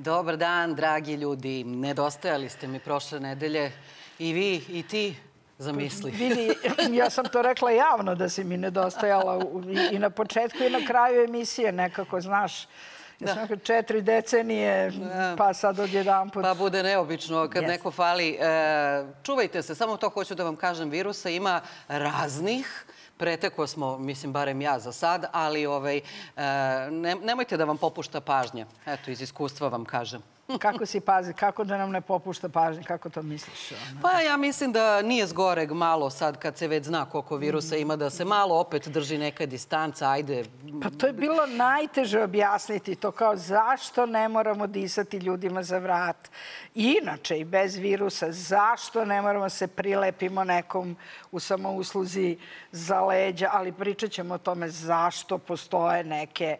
Dobar dan, dragi ljudi. Nedostajali ste mi prošle nedelje. I vi, i ti, zamisli. Vidi, ja sam to rekla javno da si mi nedostajala i na početku i na kraju emisije nekako, znaš. Ja sam 4 decenije, pa sad odjedanput. Pa bude neobično kad neko fali. Čuvajte se, samo to hoću da vam kažem, virusa ima raznih. Preteko smo, mislim, barem ja za sad, ali nemojte da vam popušta pažnja. Eto, iz iskustva vam kažem. Kako si pazi, kako da nam ne popušta pažnja, kako to misliš? Pa ja mislim da nije zgoreg malo sad kad se već zna koliko virusa ima, da se malo opet drži neka distanca, ajde. Pa to je bilo najteže objasniti, to kao zašto ne moramo disati ljudima za vrat. Inače i bez virusa, zašto ne moramo se prilepimo nekom u samousluzi za leđa, ali pričat ćemo o tome zašto postoje neke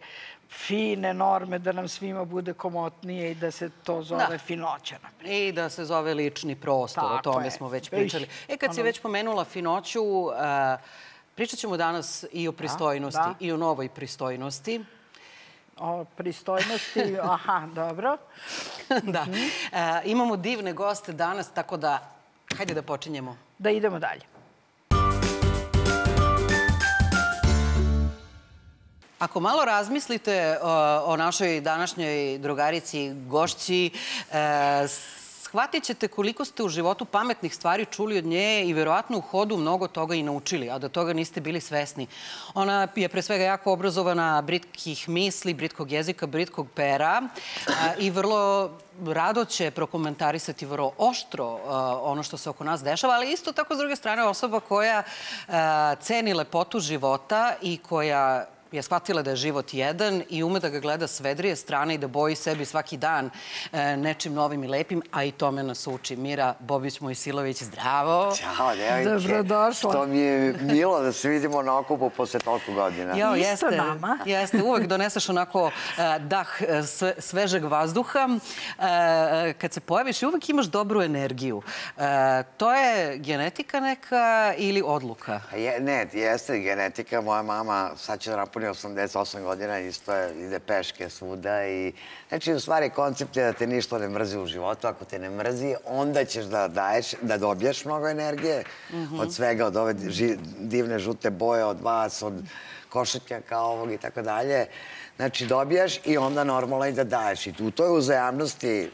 fine norme da nam svima bude komotnije i da se to zove finoća. I da se zove lični prostor, o tome smo već pričali. Kad si već pomenula finoću, pričat ćemo danas i o pristojnosti, i o novoj pristojnosti. O pristojnosti, aha, dobro. Da. Imamo divne goste danas, tako da hajde da počinjemo. Da idemo dalje. Ako malo razmislite o našoj današnjoj drugarici, gošći, shvatit ćete koliko ste u životu pametnih stvari čuli od nje i verovatno u hodu mnogo toga i naučili, a da toga niste bili svesni. Ona je pre svega jako obrazovana, britkih misli, britkog jezika, britkog pera i vrlo rado će prokomentarisati vrlo oštro ono što se oko nas dešava, ali isto tako s druge strane osoba koja ceni lepotu života i koja je shvatila da je život jedan i ume da ga gleda s vedrije strane i da boji sebi svaki dan nečim novim i lepim, a i tome nas uči. Mira Bobić-Mojsilović, zdravo. Ćao, devojke. Dobrodošla. To mi je milo da se vidimo na okupu posle toliko godina. Isto nama. Jeste, uvek doneseš onako dah svežeg vazduha. Kad se pojaviš, uvek imaš dobru energiju. To je genetika neka ili odluka? Ne, jeste genetika. Moja mama sad će da napuni 88 godina, isto ide peške svuda i znači u stvari koncept je da te ništa ne mrzi u životu. Ako te ne mrzi, onda ćeš da dobiješ mnogo energije od svega, od ove divne žute boje, od vas, od košetnjaka ovog i tako dalje. Znači dobiješ i onda normalno i da daješ. I u toj uzajamnosti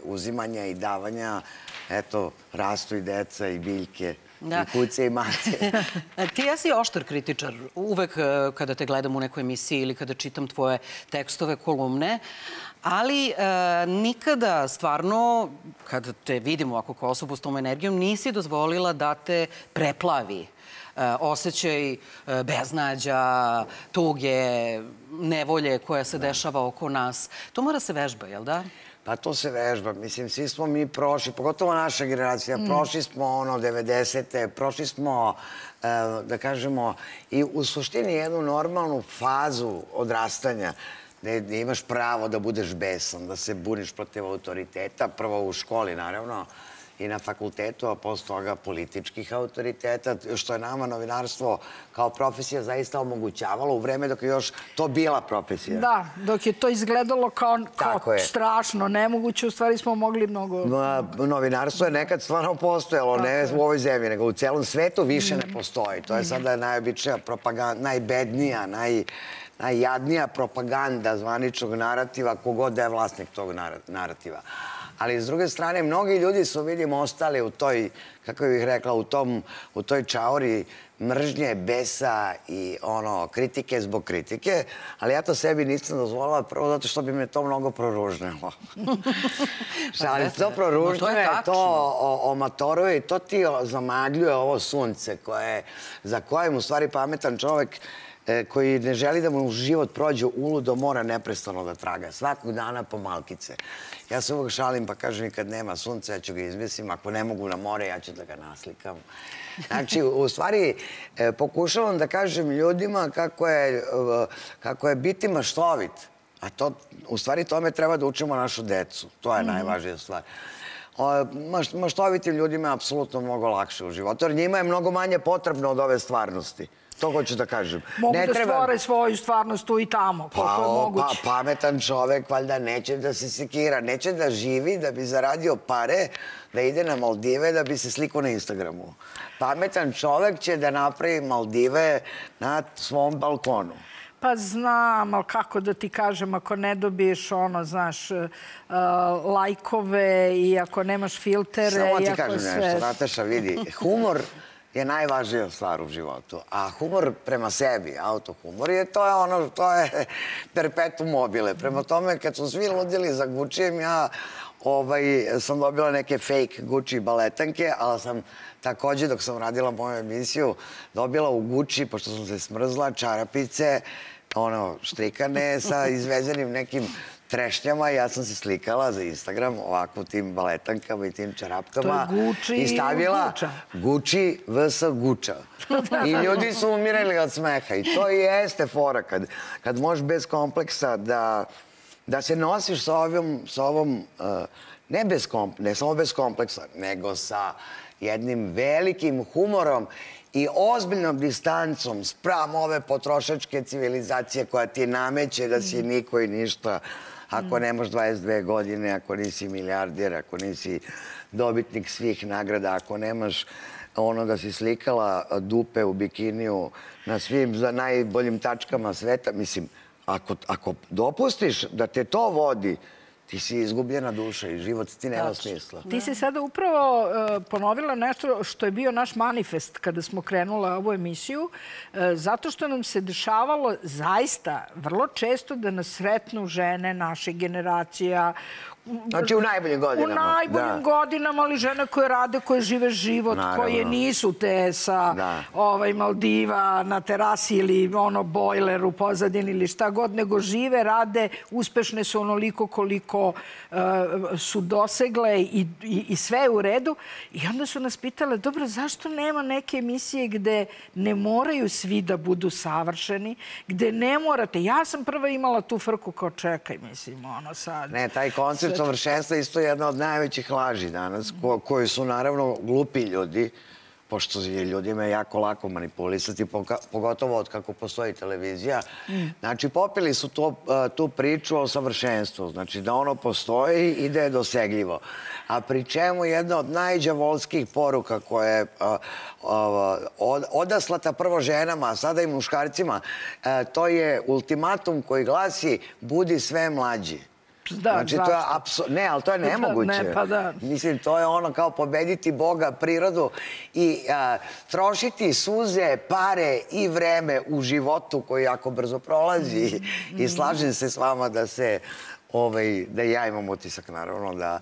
uzimanja i davanja, eto, rastu i deca i biljke. I kuće i mace. Ti jesi oštar kritičar. Uvek kada te gledam u nekoj emisiji ili kada čitam tvoje tekstove, kolumne, ali nikada stvarno, kada te vidimo ovako kao osobu s tom energijom, nisi dozvolila da te preplavi osjećaj beznađa, tuge, nevolje koja se dešava oko nas. To mora se vežba, jel da? Pa to se vežba. Mislim, svi smo mi prošli, pogotovo naša generacija, prošli smo 90-te, prošli smo, da kažemo, i u suštini jednu normalnu fazu odrastanja gde imaš pravo da budeš besan, da se buniš protiv autoriteta, prvo u školi, naravno, i na fakultetu, a posle toga političkih autoriteta, što je nama novinarstvo kao profesija zaista omogućavalo u vreme dok je još to bila profesija. Da, dok je to izgledalo kao strašno, nemoguće, u stvari smo mogli mnogo... Novinarstvo je nekad stvarno postojalo, ne u ovoj zemlji, nego u celom svetu više ne postoji. To je sada najobičnija propaganda, najbednija, najjadnija propaganda zvaničnog narativa, kogod da je vlasnik tog narativa. Ali s druge strane, mnogi ljudi su, vidim, ostali u toj, kako bih rekla, u toj čauri mržnje, besa i kritike zbog kritike, ali ja to sebi nisam dozvolila prvo zato što bi me to mnogo proružnelo. Ali to proružnjuje, to omatoruje i to ti zamagljuje ovo sunce za kojem u stvari pametan čovek koji ne želi da mu život prođe uludo, mora neprestano da traga. Svakog dana po malkice. Ja se uvek šalim pa kažem i kad nema sunca, ja ću ga izmesim. Ako ne mogu na more, ja ću da ga naslikam. Znači, u stvari, pokušavam da kažem ljudima kako je biti maštovit. A to, u stvari, tome treba da učimo našu decu. To je najvažnija stvar. maštovitim ljudima je apsolutno mnogo lakše u životu, jer njima je mnogo manje potrebno od ove stvarnosti. To hoću da kažem. Mogu da stvore svoju stvarnost tu i tamo, koliko je moguće. Pametan čovek valjda neće da se sekira, neće da živi da bi zaradio pare, da ide na Maldive da bi se slikao na Instagramu. Pametan čovek će da napravi Maldive na svom balkonu. Pa znam, ali kako da ti kažem, ako ne dobiješ znaš, lajkove i ako nemaš filtere... Samo ti kažem nešto, Nataša, vidi, humor je najvažnija stvar u životu. A humor prema sebi, autohumor, to je perpetuum mobile. Prema tome, kad su svi ludili za Guccijem, ja sam dobila neke fake Gucci baletanke, ali sam takođe, dok sam radila moju emisiju, dobila u Gucci, pošto sam se smrzla, čarapice, štrikane sa izvezenim nekim trešnjama. Ja sam se slikala za Instagram ovako u tim baletankama i tim čarapkama. To je Gucci i stavila Gucci. Gucci vs. Gucci. I ljudi su umirali od smeha. I to i jeste fora kad možeš bez kompleksa da se nosiš sa ovom, ne samo bez kompleksa, nego sa jednim velikim humorom i ozbiljnom distancom spram ove potrošačke civilizacije koja ti nameće da si niko i ništa ako nemaš 22 godine, ako nisi milijarder, ako nisi dobitnik svih nagrada, ako nemaš da si slikala dupe u bikiniju na svim najboljim tačkama sveta. Mislim, ako dopustiš da te to vodi, ti si izgubljena duša i život ti nema smisla. Ti si sada upravo ponovila nešto što je bio naš manifest kada smo krenula ovu emisiju, zato što nam se dešavalo zaista vrlo često da nas sretnu žene naših generacija. Znači u najboljim godinama. U najboljim godinama, ali žene koje rade, koje žive život, koje nisu te sa Maldiva na terasi ili bojler u pozadini ili šta god, nego žive, rade, uspešne su onoliko koliko su dosegle i sve je u redu. I onda su nas pitale, dobro, zašto nema neke emisije gde ne moraju svi da budu savršeni, gde ne morate. Ja sam prva imala tu frku kao čekaj, mislim, sad... Ne, taj koncept savršenstva isto je jedna od najvećih laži danas, koji su naravno glupi ljudi, pošto je ljudima jako lako manipulisati, pogotovo od kako postoji televizija. Znači, popili su tu priču o savršenstvu. Znači, da ono postoji i da je dosegljivo. A pri čemu jedna od najđavolskih poruka koja je odaslata prvo ženama, a sada i muškarcima, to je ultimatum koji glasi budi sve mlađi. Znači, to je apsolutno... Ne, ali to je nemoguće. Mislim, to je ono kao pobediti Boga, prirodu i trošiti suze, pare i vreme u životu koji jako brzo prolazi. I slažem se s vama da ja imam utisak, naravno,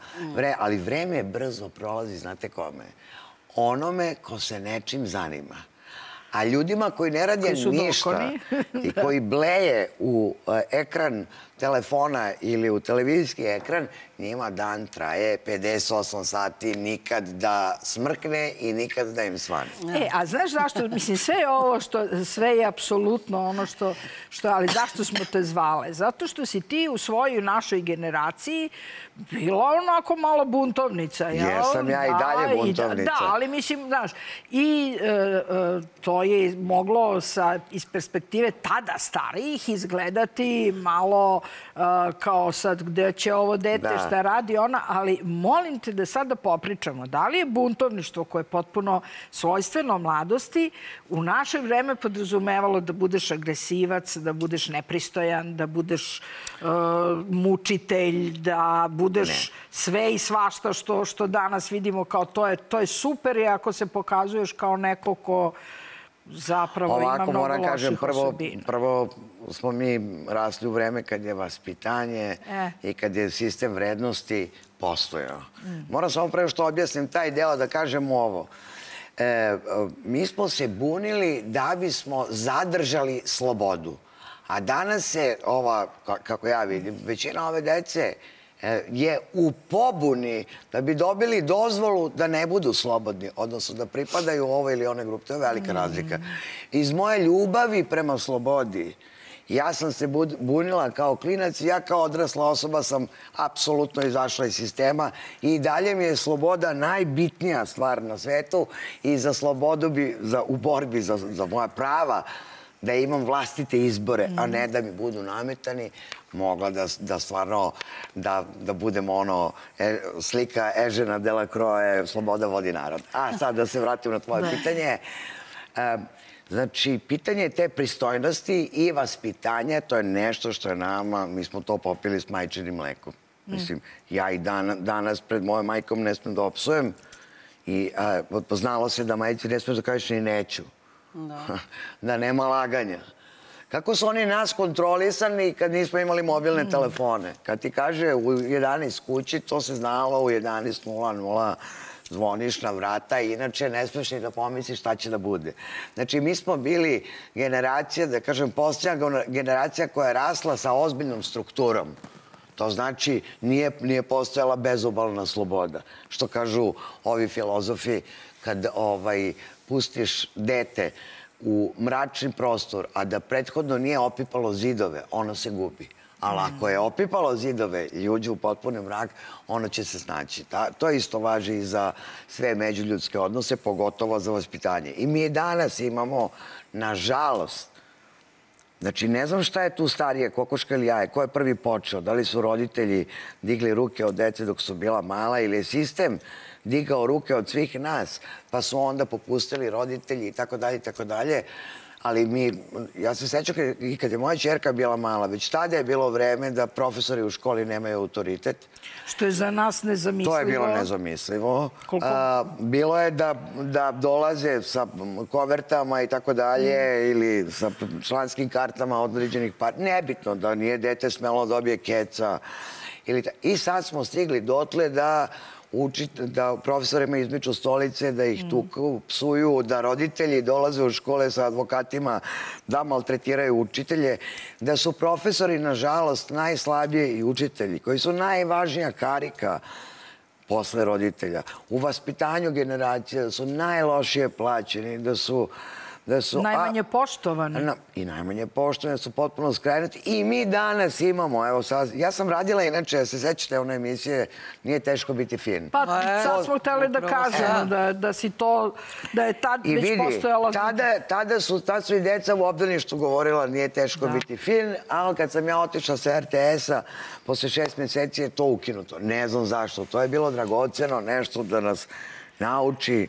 ali vreme brzo prolazi, znate kome? Onome ko se nečim zanima. A ljudima koji ne rade ništa i koji bleje u ekran telefona ili u televizijski ekran, njima dan traje 58 sati, nikad da smrkne i nikad da im svane. A znaš zašto? Mislim, sve je ovo sve je apsolutno ono što... Ali zašto smo te zvale? Zato što si ti u svojoj našoj generaciji bila onako malo buntovnica. Jesam ja i dalje buntovnica. Da, ali mislim, znaš, i to je moglo iz perspektive tada starijih izgledati malo kao sad gde će ovo dete šta radi ona, ali molim te da sada popričamo. Da li je buntovništvo koje je potpuno svojstveno mladosti u naše vreme podrazumevalo da budeš agresivac, da budeš nepristojan, da budeš mučitelj, da budeš sve i svašta što danas vidimo kao to je super i ako se pokazuješ kao neko ko zapravo ima mnogo loših osobina. Prvo smo mi rasli u vreme kad je vaspitanje i kad je sistem vrednosti postojao. Moram samo prvo što objasnim taj deo da kažem ovo. Mi smo se bunili da bismo zadržali slobodu. A danas se kako ja vidim, većina ove dece je u pobuni da bi dobili dozvolu da ne budu slobodni, odnosno da pripadaju ovoj ili onoj grupi. To je velika razlika. Iz moje ljubavi prema slobodi Ja sam se bunila kao klinac i ja kao odrasla osoba sam apsolutno izašla iz sistema i dalje mi je sloboda najbitnija stvar na svetu i za slobodu bi, u borbi za moja prava, da imam vlastite izbore, a ne da mi budu nametani, mogla da stvarno, da budemo ono, slika Ežena Delacroix, sloboda vodi narod. A sad da se vratim na tvoje pitanje. Znači, pitanje te pristojnosti i vaspitanja, to je nešto što je nama, mi smo to popili s majčinim mlekom. Mislim, ja i danas pred mojom majkom ne smijem da opsujem i poznalo se da majci ne smijem da kažeš ni neću. Da nema laganja. Kako su oni nas kontrolisani kad nismo imali mobilne telefone? Kad ti kaže u 11 kući, to se znalo u 11:00 zvoniš na vrata i inače ne smiješ ni da pomisliš šta će da bude. Znači, mi smo bili generacija, da kažem, posljednja generacija koja je rasla sa ozbiljnom strukturom. To znači, nije postojala bezobalna sloboda. Što kažu ovi filozofi, kad pustiš dete u mračni prostor, a da prethodno nije opipalo zidove, ono se gubi. Ali ako je opipalo zidove i uđe u potpuni mrak, ono će se snaći. To isto važi i za sve međuljudske odnose, pogotovo za vaspitanje. I mi danas imamo, nažalost, znači ne znam šta je tu starije, kokoška ili jaje, ko je prvi počeo, da li su roditelji digli ruke od dece dok su bila mala ili je sistem digao ruke od svih nas, pa su onda popustili roditelji i tako dalje, i tako dalje. Ali ja se sećam i kad je moja ćerka bila mala, već tada je bilo vreme da profesori u školi nemaju autoritet. Što je za nas nezamislivo. To je bilo nezamislivo. Bilo je da dolaze sa kovertama i tako dalje ili sa članskim kartama određenih partija. Nebitno da nije dete smelo da dobije keca. I sad smo stigli dotle da profesorima izmiču stolice, da ih tuku, psuju, da roditelji dolaze u škole sa advokatima da maltretiraju učitelje, da su profesori, nažalost, najslabije i učitelji, koji su najvažnija karika posle roditelja. U vaspitanju generacija da su najlošije plaćeni, da su najmanje poštovani. I najmanje poštovani, da su potpuno skrenuti. I mi danas imamo, evo sad, ja sam radila inače, se sećate one emisije, Nije teško biti fin. Pa sad smo hteli da kažemo da si to, da je tad već postojalo... Tad su i deca u obdaništu govorila nije teško biti fin, ali kad sam ja otišla sa RTS-a, posle 6 meseci je to ukinuto. Ne znam zašto, to je bilo dragoceno, nešto da nas nauči.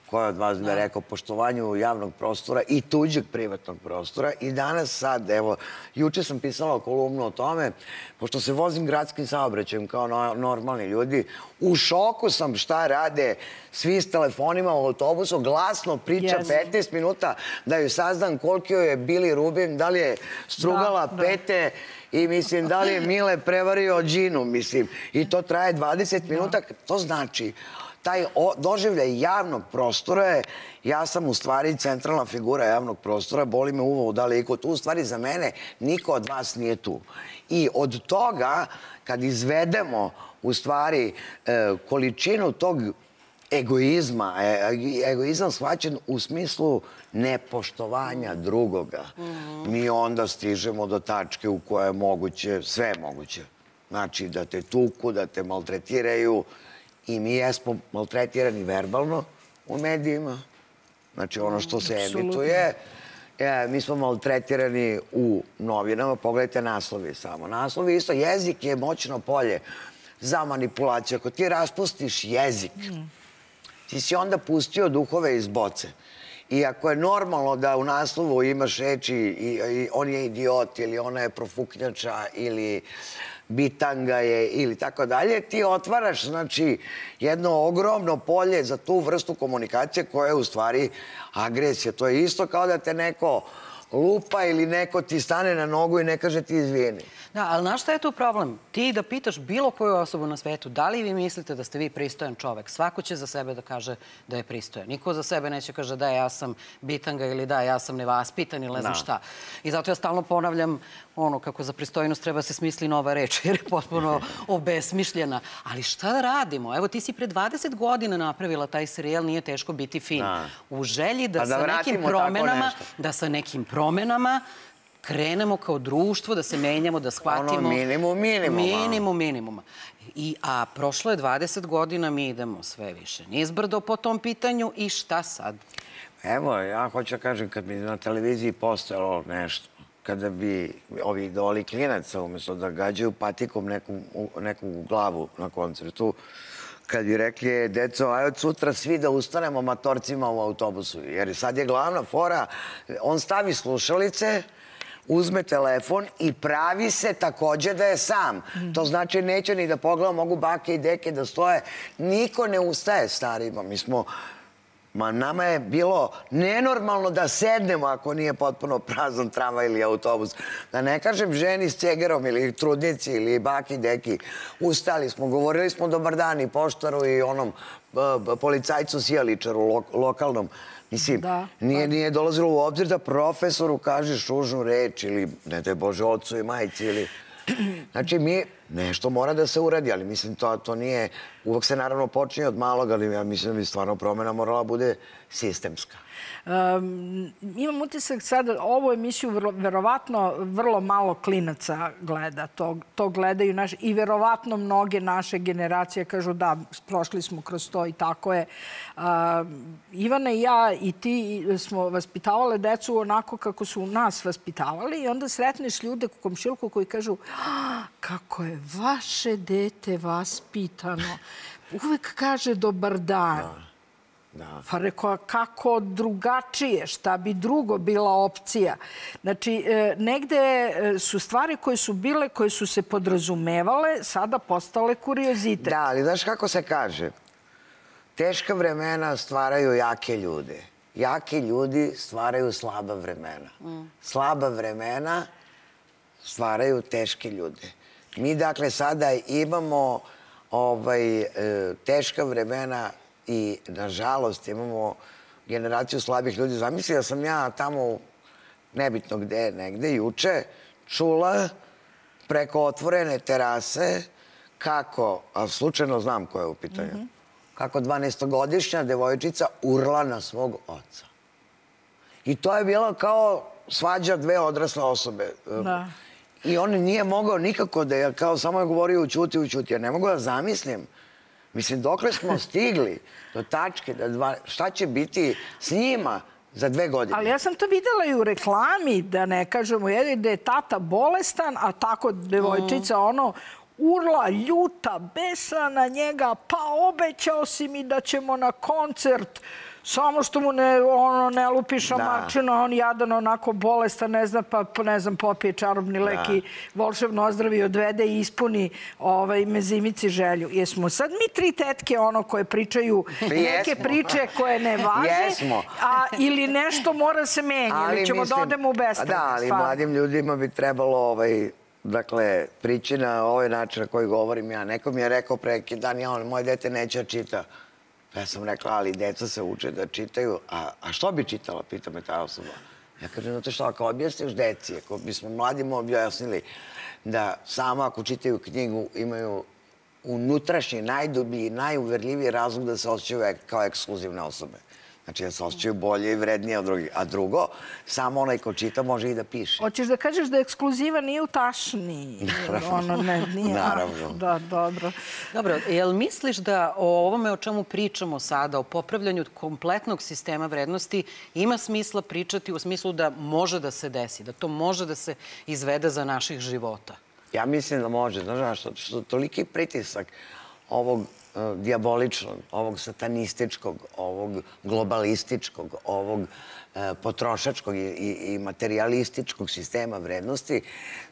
Ko je od vas bi rekao poštovanju javnog prostora i tuđeg privatnog prostora. I danas sad, evo, juče sam pisala kolumnu o tome, pošto se vozim gradskim saobraćajem kao normalni ljudi, u šoku sam šta rade svi s telefonima u autobusu, glasno priča 15 minuta da ju saznam koliko je Bili Rubin, da li je strugala pete i mislim da li je Mile prevario Đinu, mislim. I to traje 20 minuta, to znači... Taj doživljaj javnog prostora je, ja sam u stvari centralna figura javnog prostora, boli me uvo da li je iko tu, u stvari za mene niko od vas nije tu. I od toga, kad izvedemo u stvari količinu tog egoizma, egoizam shvaćen u smislu nepoštovanja drugoga, mi onda stižemo do tačke u kojoj je moguće, sve je moguće. Znači da te tuku, da te maltretiraju, i mi jesmo maltretirani verbalno u medijima. Znači, ono što se emituje. Mi smo maltretirani u novinama. Pogledajte naslovi samo. Naslovi isto. Jezik je moćno polje za manipulaciju. Ako ti raspustiš jezik, ti si onda pustio duhove iz boce. I ako je normalno da u naslovu imaš reči i on je idiot ili ona je profuknjača ili bitanga je ili tako dalje, ti otvaraš, znači, jedno ogromno polje za tu vrstu komunikacije koja je u stvari agresija. To je isto kao da te neko lupa ili neko ti stane na nogu i ne kaže ti izvini. Da, ali znaš šta je tu problem? Ti da pitaš bilo koju osobu na svetu, da li vi mislite da ste vi pristojan čovek? Svako će za sebe da kaže da je pristojan. Niko za sebe neće kaže da ja sam bitanga ili da ja sam nevaspitan ili ne znam šta. I zato ja stalno ponavljam ono kako za pristojnost treba se smisli nova reč jer je potpuno obesmišljena. Ali šta da radimo? Evo ti si pre 20 godina napravila taj serijal Nije teško biti fin. U želji da sa nekim promenama krenemo kao društvo, da se menjamo, da shvatimo... Ono minimum minimuma. Minimum minimuma. A prošlo je 20 godina, mi idemo sve više nizbrdo po tom pitanju i šta sad? Evo, ja hoću da kažem, kad bi na televiziji postojalo nešto, kada bi ovi idoli klinaca, umjesto da gađaju patikom neku glavu na koncertu, kad bi rekli, deco, aj od sutra svi da ustanemo matorcima u autobusu. Jer sad je glavna fora, on stavi slušalice, uzme telefon i pravi se takođe da je sam. To znači neće ni da pogleda, mogu bake i deke da stoje. Niko ne ustaje starima. Nama je bilo nenormalno da sednemo ako nije potpuno prazan tramvaj ili autobus. Da ne kažem ženi s cegerom ili trudnici ili baki deki. Ustali smo, govorili smo dobar dan i poštaru i onom policajcu sijaličaru lokalnom. Mislim, nije dolazilo u obzir da profesoru kažeš ružnu reč ili, ne daj Bože, ocu i majici ili... Znači, nešto mora da se uradi, ali mislim, to nije... Uvek se naravno počinje od malog, ali ja mislim da bi stvarno promjena morala bude sistemska. Imam utisak sada, ovu emisiju verovatno vrlo malo klinaca gleda. To gledaju naši i verovatno mnoge naše generacije kažu da, prošli smo kroz to i tako je. Ivana i ja i ti smo vaspitavale decu onako kako su nas vaspitavali i onda sretneš ljude u komšiluku koji kažu kako je vaše dete vaspitano. Uvek kaže dobar dan. Pa rekao, kako drugačije, šta bi drugo bila opcija. Znači, negde su stvari koje su bile, koje su se podrazumevale, sada postale kuriozitet. Da, ali znaš kako se kaže? Teška vremena stvaraju jake ljude. Jaki ljudi stvaraju slaba vremena. Slaba vremena stvaraju teške ljude. Mi, dakle, sada imamo teška vremena i, nažalost, imamo generaciju slabih ljudi. Zamisli da sam ja tamo, nebitno gde, negde, juče, čula preko otvorene terase kako, a slučajno znam ko je u pitanju, kako 12-godišnja devojčica urla na svog oca. I to je bilo kao svađa dve odrasle osobe. I on nije mogao nikako da je, kao samo je govorio ućuti. Ja ne mogu da zamislim. Mislim, dokle smo stigli do tačke, šta će biti s njima za 2 godine? Ali ja sam to videla i u reklami, da ne kažemo, da je tata bolestan, a tako devojčica urla, ljuta, besna na njega, pa obećao si mi da ćemo na koncert, samo što mu ne lupiša mačina, on jadan onako bolestan, ne zna, pa ne znam, popije čarobni lek i volšebno ozdravi, odvede i ispuni mezimici želju. Jesmo sad mi 3 tetke koje pričaju neke priče koje ne važe, ili nešto mora se menjati, ili ćemo da odemo u beskrajnost. Da, ali mladim ljudima bi trebalo dakle, priči na ovaj način na koji govorim ja. Neko mi je rekao pre neki dan, moje dete neće da čita. Ja sam rekla, ali deca se uče da čitaju. A što bi čitala, pita me ta osoba. Ja kažem, znate što, ako objasniš deci, ako bismo mladima objasnili da samo ako čitaju knjigu imaju unutrašnji, najdublji, najuverljiviji razlog da se osjećaju kao ekskluzivne osobe. Znači da se osjećaju bolje i vrednije od drugih. A drugo, samo onaj ko čita može i da piše. Hoćeš da kažeš da ekskluziva nije u tašni? Naravno. Da, dobro. Dobro, jel misliš da o ovome o čemu pričamo sada, o popravljanju kompletnog sistema vrednosti, ima smisla pričati u smislu da može da se desi, da to može da se izvede za naših života? Ja mislim da može. Znaš što toliki pritisak ovog dijaboličnog, ovog satanističkog, ovog globalističkog, ovog potrošačkog i materialističkog sistema vrednosti,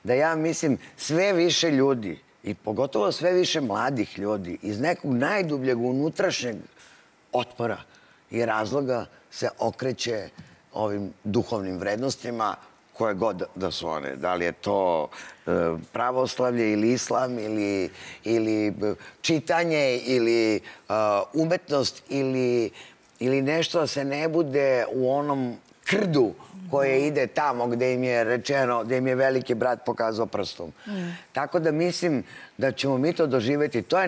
da ja mislim sve više ljudi i pogotovo sve više mladih ljudi iz nekog najdubljeg unutrašnjeg otpora i razloga se okreće ovim duhovnim vrednostima koje god da su one. Da li je to pravoslavlje ili islam ili čitanje ili umetnost ili nešto da se ne bude u onom krdu koje ide tamo gde im je rečeno, gde im je veliki brat pokazao prstom. Tako da mislim da ćemo mi to doživjeti. To je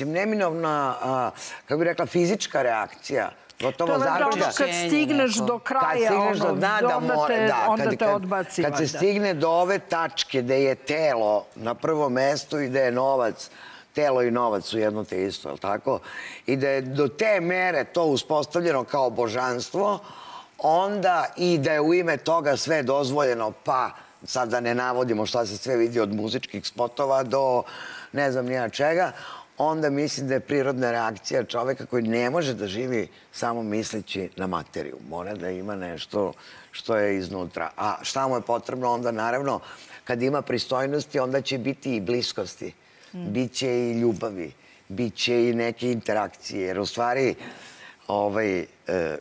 neminovna, kako bih rekla, fizička reakcija gotovo zaključka. Kad stigneš do kraja, onda te odbaci. Kad se stigne do ove tačke gde je telo na prvom mestu i gde je novac, telo i novac su jedno te isto, je li tako? I da je do te mere to uspostavljeno kao božanstvo, onda i da je u ime toga sve dozvoljeno, pa sad da ne navodimo šta se sve vidi od muzičkih spotova do ne znam nija čega, onda mislim da je prirodna reakcija čoveka koji ne može da živi samo misleći na materiju. Mora da ima nešto što je iznutra. A šta mu je potrebno onda, naravno, kad ima pristojnosti, onda će biti i bliskosti. Biće i ljubavi, biće i neke interakcije. Jer u stvari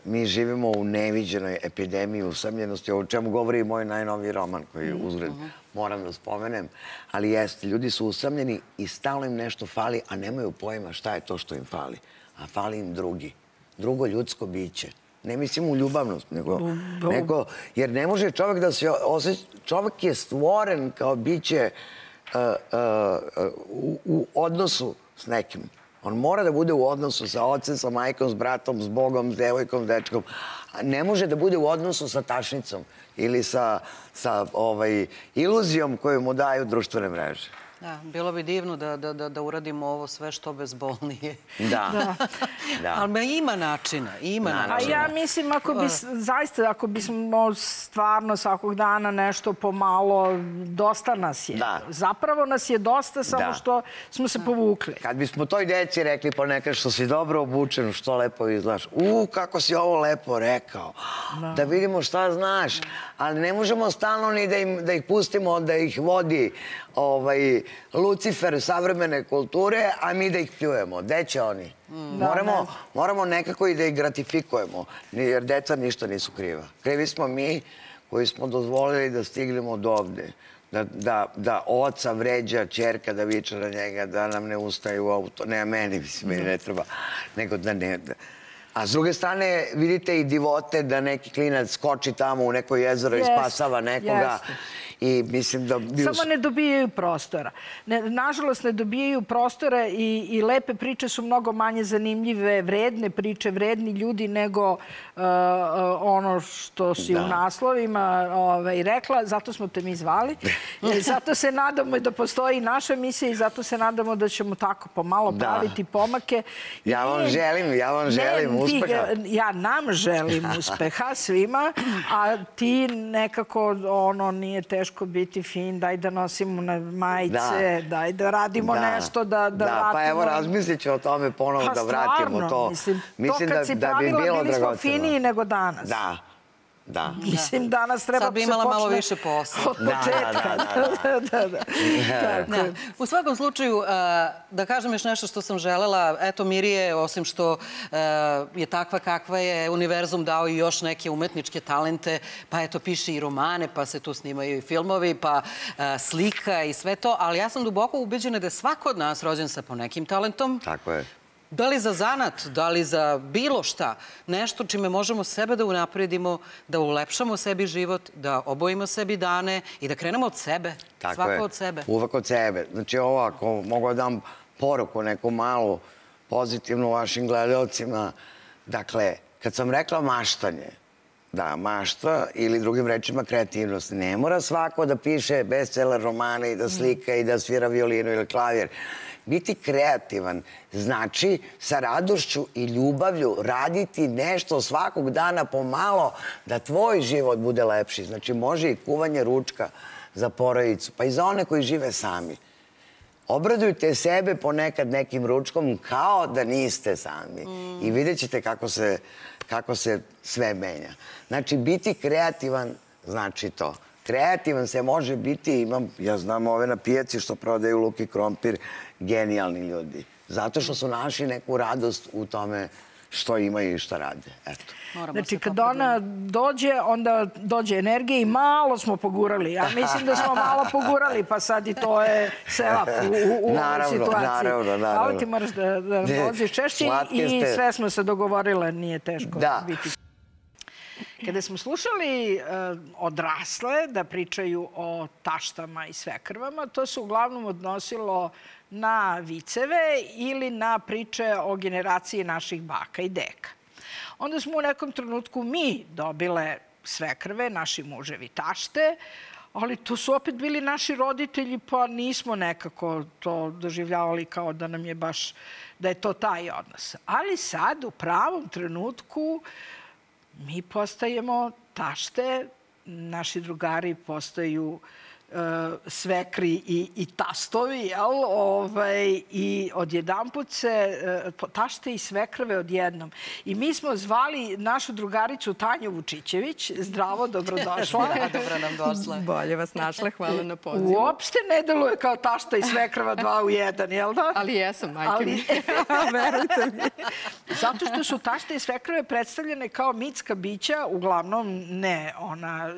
mi živimo u neviđenoj epidemiji usamljenosti, o čemu govori i moj najnoviji roman koji uzgled moram da spomenem. Ali jeste, ljudi su usamljeni i stalno im nešto fali, a nemaju pojma šta je to što im fali. A fali im drugo ljudsko biće. Ne mislim u ljubavnost, nego jer ne može čovjek da se osjeća, čovjek je stvoren kao biće u odnosu s nekim. On mora da bude u odnosu sa ocem, sa majkom, s bratom, s Bogom, s devojkom, s dečkom. Ne može da bude u odnosu sa tašnicom ili sa iluzijom koju mu daju društvene mreže. Da, bilo bi divno da uradimo ovo sve što bezbolnije. Da. Ali ima načina, A ja mislim, zaista, ako bismo stvarno svakog dana nešto pomalo, dosta nas je. Zapravo nas je dosta, samo što smo se povukli. Kad bismo toj deci rekli ponekad što si dobro obučen, što lepo izgledaš. Kako si ovo lepo rekao. Da vidimo šta znaš. Ali ne možemo stalno ni da ih pustimo, da ih vodi Lucifer savremene kulture, a mi da ih pljujemo. Gde će oni? Moramo nekako i da ih gratifikujemo, jer deca ništa nisu kriva. Krivi smo mi koji smo dozvolili da stignemo do ovde. Da oca vređa ćerka, da viče na njega, da nam ne ustaje u auto. Ne, meni ne treba. Nego da ne... A s druge strane, vidite i divote da neki klinac skoči tamo u neko jezero i spasava nekoga. I mislim da... Samo ne dobijaju prostora. Nažalost, ne dobijaju prostora i lepe priče su mnogo manje zanimljive, vredne priče, vredni ljudi nego ono što si u naslovima rekla. Zato smo te mi zvali. Zato se nadamo da postoji naša emisija i zato se nadamo da ćemo tako pomalo praviti pomake. Ja vam želim uspeha. Ja nam želim uspeha svima, a ti nekako nije teško biti fin, daj da nosimo na majice, daj da radimo nešto, da vratimo... Pa evo, razmislit ću o tome ponovo da vratimo to. Mislim kad si pravila, bili smo finiji nego danas. Da. Mislim, danas treba sad bi imala malo više posla. Od početka. U svakom slučaju, da kažem još nešto što sam želela, eto Mirije, osim što je takva kakva je, univerzum dao i još neke umetničke talente, pa eto piše i romane, pa se tu snimaju i filmovi, pa slika i sve to, ali ja sam duboko ubeđena da je svako od nas rođen sa ponekim talentom. Tako je. Da li za zanat, da li za bilo šta, nešto čime možemo sebe da unapredimo, da ulepšamo sebi život, da obojimo sebi dane i da krenemo od sebe, svako od sebe. Uvek od sebe. Znači ovo, ako mogu da dam poruku neku malu, pozitivnu vašim gledalcima, dakle, kad sam rekla maštanje, da, mašta ili drugim rečima kreativnost. Ne mora svako da piše bestseller romane i da slika i da svira violinu ili klavir. Biti kreativan znači sa radošću i ljubavlju raditi nešto svakog dana pomalo da tvoj život bude lepši. Znači može i kuvanje ručka za porodicu, pa i za one koji žive sami. Obradujte sebe ponekad nekim ručkom kao da niste sami i vidjet ćete kako se sve menja. Znači biti kreativan znači to. Kreativan se može biti, ja znam ove na pijaci što prodaju luk i krompir, genijalni ljudi. Zato što su našli neku radost u tome što imaju i što rade. Eto. Znači, kad ona dođe, onda dođe energija i malo smo pogurali. Ja mislim da smo malo pogurali, pa sad i to je selap u ovoj situaciji. Naravno. Ali ti moraš da dođeš češće i sve smo se dogovorile, nije teško biti. Kada smo slušali odrasle da pričaju o taštama i svekrvama, to se uglavnom odnosilo na viceve ili na priče o generaciji naših baka i deka. Onda smo u nekom trenutku mi dobile svekrve, naši muževi tašte, ali to su opet bili naši roditelji, pa nismo nekako to doživljavali kao da nam je baš, da je to taj odnos. Ali sad, u pravom trenutku, mi postajemo tašte, naši drugari postaju svekri i tastovi, jel? I odjedanput se tašte i svekrve odjednom. I mi smo zvali našu drugaricu Tanju Vučićević. Zdravo, dobrodošla. Dobro nam došla. Bolje vas našla, hvala na pozivu. Uopšte ne deluje kao tašta i svekrva 2 u 1, jel da? Ali jesam, majke mi. Verujte mi. Zato što su tašte i svekrve predstavljene kao mitska bića, uglavnom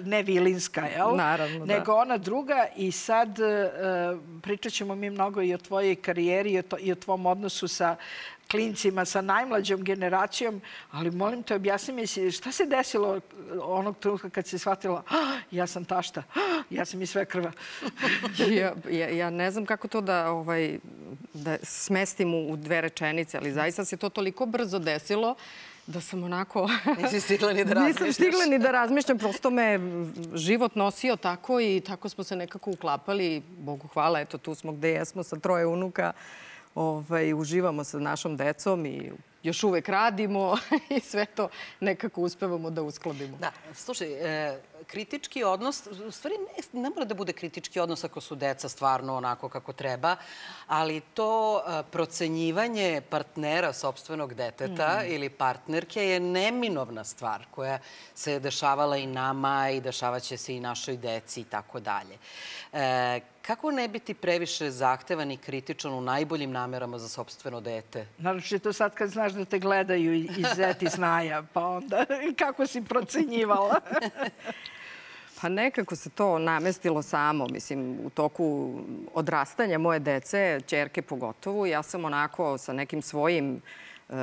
ne vilinska, jel? Naravno, da. Nego ona druga. I sad pričat ćemo mi mnogo i o tvojoj karijeri i o tvom odnosu sa klincima, sa najmlađom generacijom, ali molim te, objasni mi šta se desilo onog trenutka kad si shvatila ja sam tašta, ja sam i svekrva. Ja ne znam kako to da smestim u 2 rečenice, ali zaista se to toliko brzo desilo da sam onako... Nisi stigla ni da razmišljaš. Nisam stigla ni da razmišljam, prosto me život nosio tako i tako smo se nekako uklapali. Bogu hvala, eto tu smo gde jesmo sa 3 unuka. Uživamo sa našom decom i još uvek radimo i sve to nekako uspevamo da uskladimo. Da, slušaj, kritički odnos, u stvari ne mora da bude kritički odnos ako su deca stvarno onako kako treba, ali to procenjivanje partnera sopstvenog deteta ili partnerke je neminovna stvar koja se dešavala i nama i dešavaće se i našoj deci i tako dalje. Kako ne biti previše zahtevan i kritičan u najboljim namerama za sopstveno dete? Naročito sad kad znaš da te gledaju i zeti snaja, pa onda kako si procenjivala? Pa nekako se to namestilo samo. Mislim, u toku odrastanja moje dece, ćerke pogotovo, ja sam onako sa nekim svojim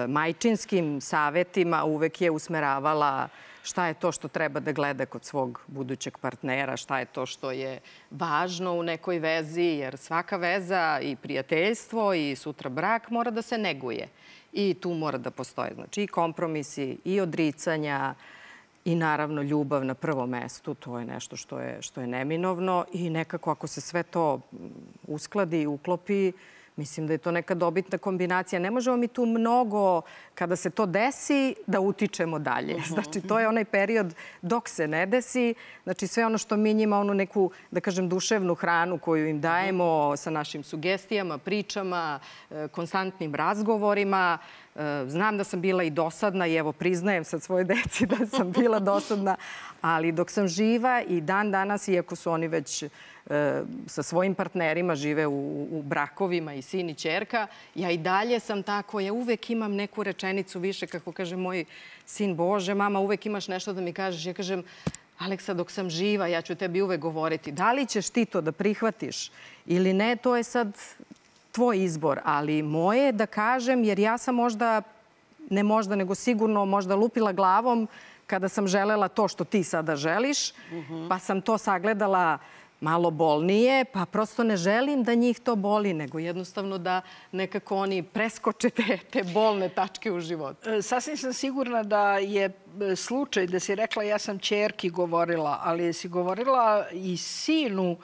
majčinskim savetima uvek je usmeravala šta je to što treba da gleda kod svog budućeg partnera, šta je to što je važno u nekoj vezi, jer svaka veza i prijateljstvo i sutra brak mora da se neguje. I tu mora da postoje, znači, i kompromisi, i odricanja, i naravno ljubav na prvom mestu. To je nešto što je neminovno i nekako ako se sve to uskladi i uklopi, mislim da je to neka dobitna kombinacija. Ne možemo mi tu mnogo, kada se to desi, da utičemo dalje. Znači, to je onaj period dok se ne desi. Znači, sve ono što mi njima, onu neku, da kažem, duševnu hranu koju im dajemo sa našim sugestijama, pričama, konstantnim razgovorima. Znam da sam bila i dosadna i evo, priznajem sad svoje deci da sam bila dosadna, ali dok sam živa i dan danas, iako su oni već sa svojim partnerima žive u brakovima i sin i ćerka, ja i dalje sam tako, ja uvek imam neku rečenicu više, kako kaže moj sin, Bože, mama, uvek imaš nešto da mi kažeš. Ja kažem, Aleksa, dok sam živa, ja ću tebi uvek govoriti. Da li ćeš ti to da prihvatiš ili ne, to je sad tvoj izbor, ali moje je da kažem, jer ja sam možda, ne možda, nego sigurno možda lupila glavom kada sam želela to što ti sada želiš, pa sam to sagledala malo bolnije, pa prosto ne želim da njih to boli, nego jednostavno da nekako oni preskoče te bolne tačke u životu. Sasvim sam sigurna da je slučaj da si rekla ja sam ćerki govorila, ali si govorila i sinu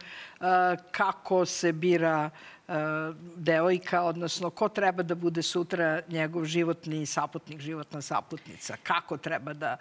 kako se bira devojka, odnosno ko treba da bude sutra njegov životni saputnik, životna saputnica. Kako treba da,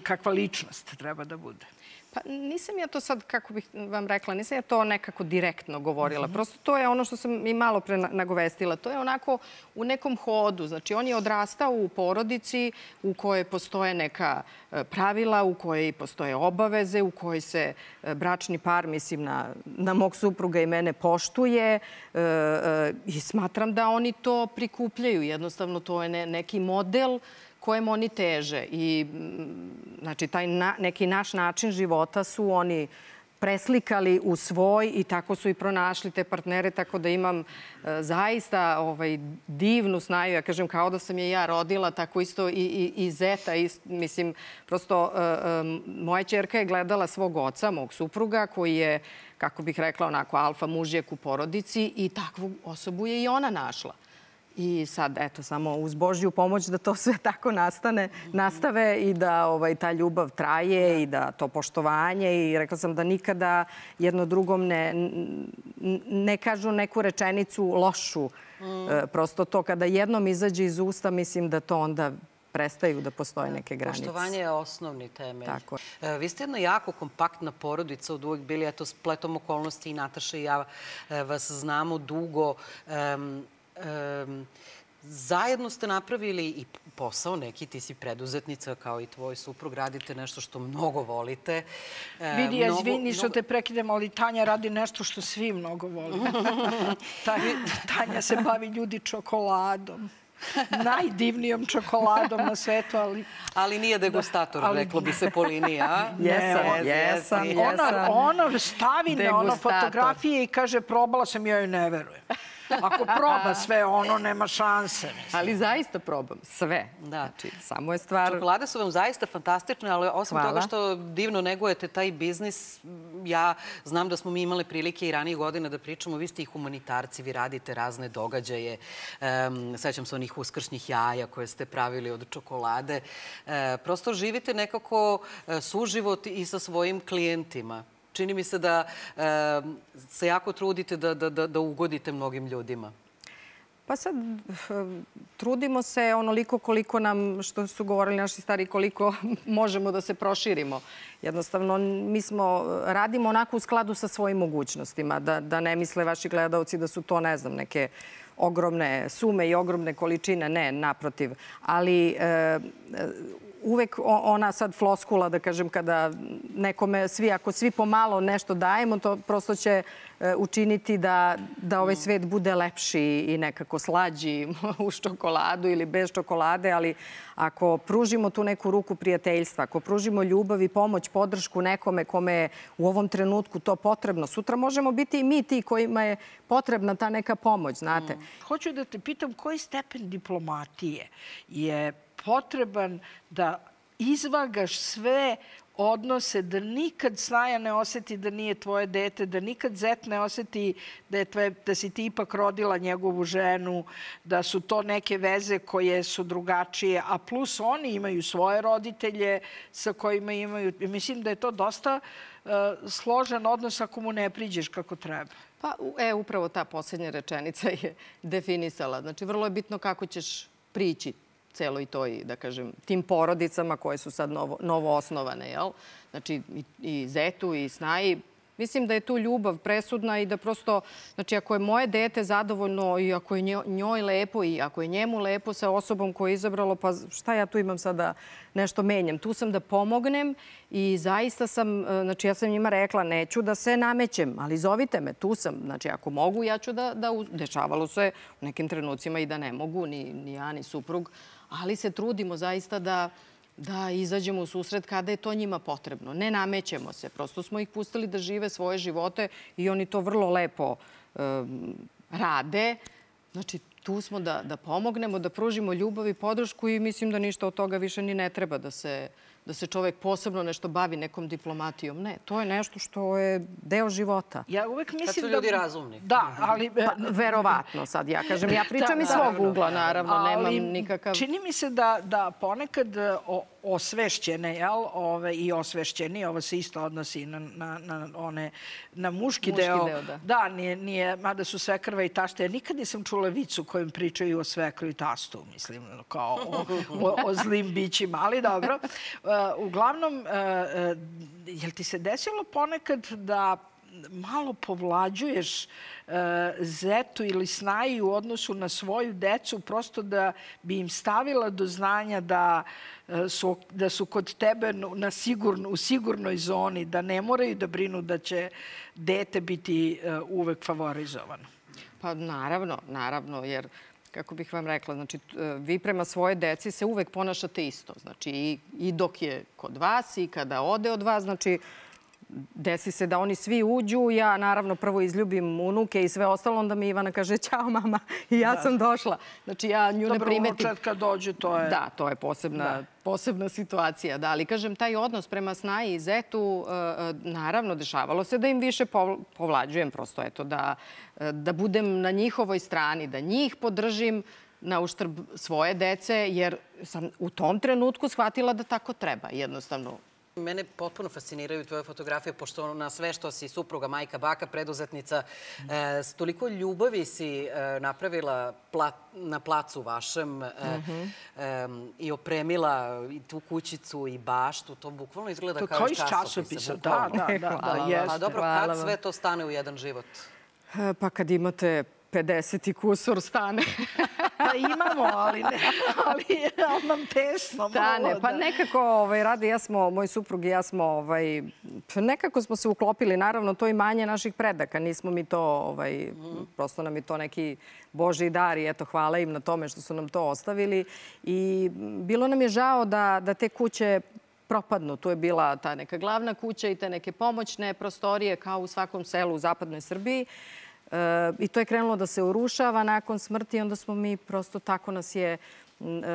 kakva ličnost treba da bude. Pa nisam ja to sad, kako bih vam rekla, nisam ja to nekako direktno govorila. Prosto to je ono što sam i malo pre nagovestila. To je onako u nekom hodu. Znači, on je odrastao u porodici u kojoj postoje neka pravila, u kojoj postoje obaveze, u kojoj se bračni par, mislim, na mog supruga i mene poštuje i smatram da oni to prikupljaju. Jednostavno, to je neki model kojem oni teže. I znači, taj neki naš način života su oni preslikali u svoj i tako su i pronašli te partnere, tako da imam zaista divnu snaju. Ja kažem, kao da sam je ja rodila, tako isto i zeta. Mislim, prosto moja ćerka je gledala svog oca, mog supruga, koji je, kako bih rekla, onako alfa mužjak u porodici i takvu osobu je i ona našla. I sad, eto, samo uz Božju pomoć da to sve tako nastave i da ta ljubav traje i da to poštovanje. I rekla sam da nikada jedno drugom ne kažu neku rečenicu lošu. Prosto to kada jednom izađe iz usta, mislim da to onda prestaju da postoje neke granice. Poštovanje je osnovni temelj. Tako je. Vi ste jedna jako kompaktna porodica, od uvek bili, eto, spletom okolnosti i Nataša i ja vas znamo dugo. Zajedno ste napravili i posao neki, ti si preduzetnica kao i tvoj suprug, radite nešto što mnogo volite. Vidi, izvini što te prekidem, ali Tanja radi nešto što svi mnogo vole. Tanja se bavi ljudi čokoladom. Najdivnijom čokoladom na svetu, ali... Ali nije degustator, reklo bi se po liniji, a? Jesam. Ona stavi na fotografije i kaže probala sam, ja joj ne verujem. Ako proba sve ono, nema šanse. Ali zaista probam sve. Znači, samo je stvar... Čokolade su vam zaista fantastične, ali osim toga što divno negujete taj biznis, ja znam da smo mi imali prilike i ranije godina da pričamo, vi ste i humanitarci, vi radite razne događaje. Sećam se onih uskršnjih jaja koje ste pravili od čokolade. Prosto živite nekako suživot i sa svojim klijentima. Čini mi se da se jako trudite da ugodite mnogim ljudima. Pa sad, trudimo se onoliko koliko nam, što su govorili naši stari, koliko možemo da se proširimo. Jednostavno, mi radimo onako u skladu sa svojim mogućnostima. Da ne misle vaši gledalci da su to, ne znam, neke ogromne sume i ogromne količine. Ne, naprotiv. Ali... Uvek ona sad floskula, da kažem, kada nekome, ako svi pomalo nešto dajemo, to prosto će učiniti da ovaj svet bude lepši i nekako slađi uz čokoladu ili bez čokolade, ali ako pružimo tu neku ruku prijateljstva, ako pružimo ljubav i pomoć, podršku nekome kome je u ovom trenutku to potrebno, sutra možemo biti i mi ti kojima je potrebna ta neka pomoć, znate. Hoću da te pitam koji stepen diplomatije je potreban da izvagaš sve odnose, da nikad Snaja ne oseti da nije tvoje dete, da nikad zet ne oseti da si ti ipak rodila njegovu ženu, da su to neke veze koje su drugačije, a plus oni imaju svoje roditelje sa kojima imaju... Mislim da je to dosta složen odnos ako mu ne priđeš kako treba. Pa, upravo ta posljednja rečenica je definisala. Znači, vrlo je bitno kako ćeš prići celoj toj, da kažem, tim porodicama koje su sad novo osnovane, jel? Znači, i zetu i Snaji. Mislim da je tu ljubav presudna i da prosto, znači, ako je moje dete zadovoljno i ako je njoj lepo i ako je njemu lepo sa osobom koju je izabralo, pa šta ja tu imam sada nešto menjam? Tu sam da pomognem i zaista sam, znači, ja sam njima rekla, neću da se namećem, ali zovite me, tu sam. Znači, ako mogu, ja ću da dešavalo se u nekim trenucima i da ne mogu, ni ja, ni suprug, ali se trudimo zaista da izađemo u susret kada je to njima potrebno. Ne namećemo se, prosto smo ih pustili da žive svoje živote i oni to vrlo lepo rade. Znači, tu smo da pomognemo, da pružimo ljubav i podršku i mislim da ništa od toga više ni ne treba da se čovek posebno nešto bavi nekom diplomatijom. Ne, to je nešto što je deo života. Ja uvek mislim da... Kad su ljudi razumni. Da, ali... Verovatno sad, ja kažem. Ja pričam iz svog ugla, naravno, nemam nikakav... Čini mi se da ponekad osvešćene, i osvešćeni, ovo se isto odnosi na muški deo. Da, nije, mada su svekrva i tašta. Ja nikad nisam čula vicu kojim pričaju o svekru i tastu, mislim, kao o zlim bićima, ali dobro. Uglavnom, jel ti se desilo ponekad da malo povlađuješ zetu ili Snaji u odnosu na svoju decu, prosto da bi im stavila do znanja da su kod tebe u sigurnoj zoni, da ne moraju da brinu da će dete biti uvek favorizovano? Pa naravno, jer kako bih vam rekla, znači, vi prema svoje deci se uvek ponašate isto. Znači, i dok je kod vas i kada ode od vas, znači, desi se da oni svi uđu, ja naravno prvo izljubim unuke i sve ostalo, onda mi Ivana kaže ćao mama i ja sam došla. Znači ja nju ne primetim. Dobro, unučad kad dođe, to je... Da, to je posebna situacija. Da, ali kažem, taj odnos prema snaji i zetu, naravno, dešavalo se da im više povlađujem prosto, eto, da budem na njihovoj strani, da njih podržim na uštrb svoje dece, jer sam u tom trenutku shvatila da tako treba, jednostavno. Mene potpuno fasciniraju tvoje fotografije, pošto na sve što si supruga, majka, baka, preduzetnica, s toliko ljubavi si napravila na placu vašem i opremila i tu kućicu i baštu. To bukvalno izgleda kao iz časopisa. Da, jeste. A dobro, kad sve to stane u jedan život? Pa kad imate 50 i kusur stane. Pa imamo, ali nam tesno. Stane, pa nekako radi, moj suprug i ja smo, nekako smo se uklopili, naravno to imanje naših predaka, nismo mi to, prosto nam je to neki Božji dar i eto, hvala im na tome što su nam to ostavili i bilo nam je žao da te kuće propadnu. Tu je bila ta neka glavna kuća i te neke pomoćne prostorije kao u svakom selu u zapadnoj Srbiji. I to je krenulo da se urušava nakon smrti i onda smo mi prosto tako nas je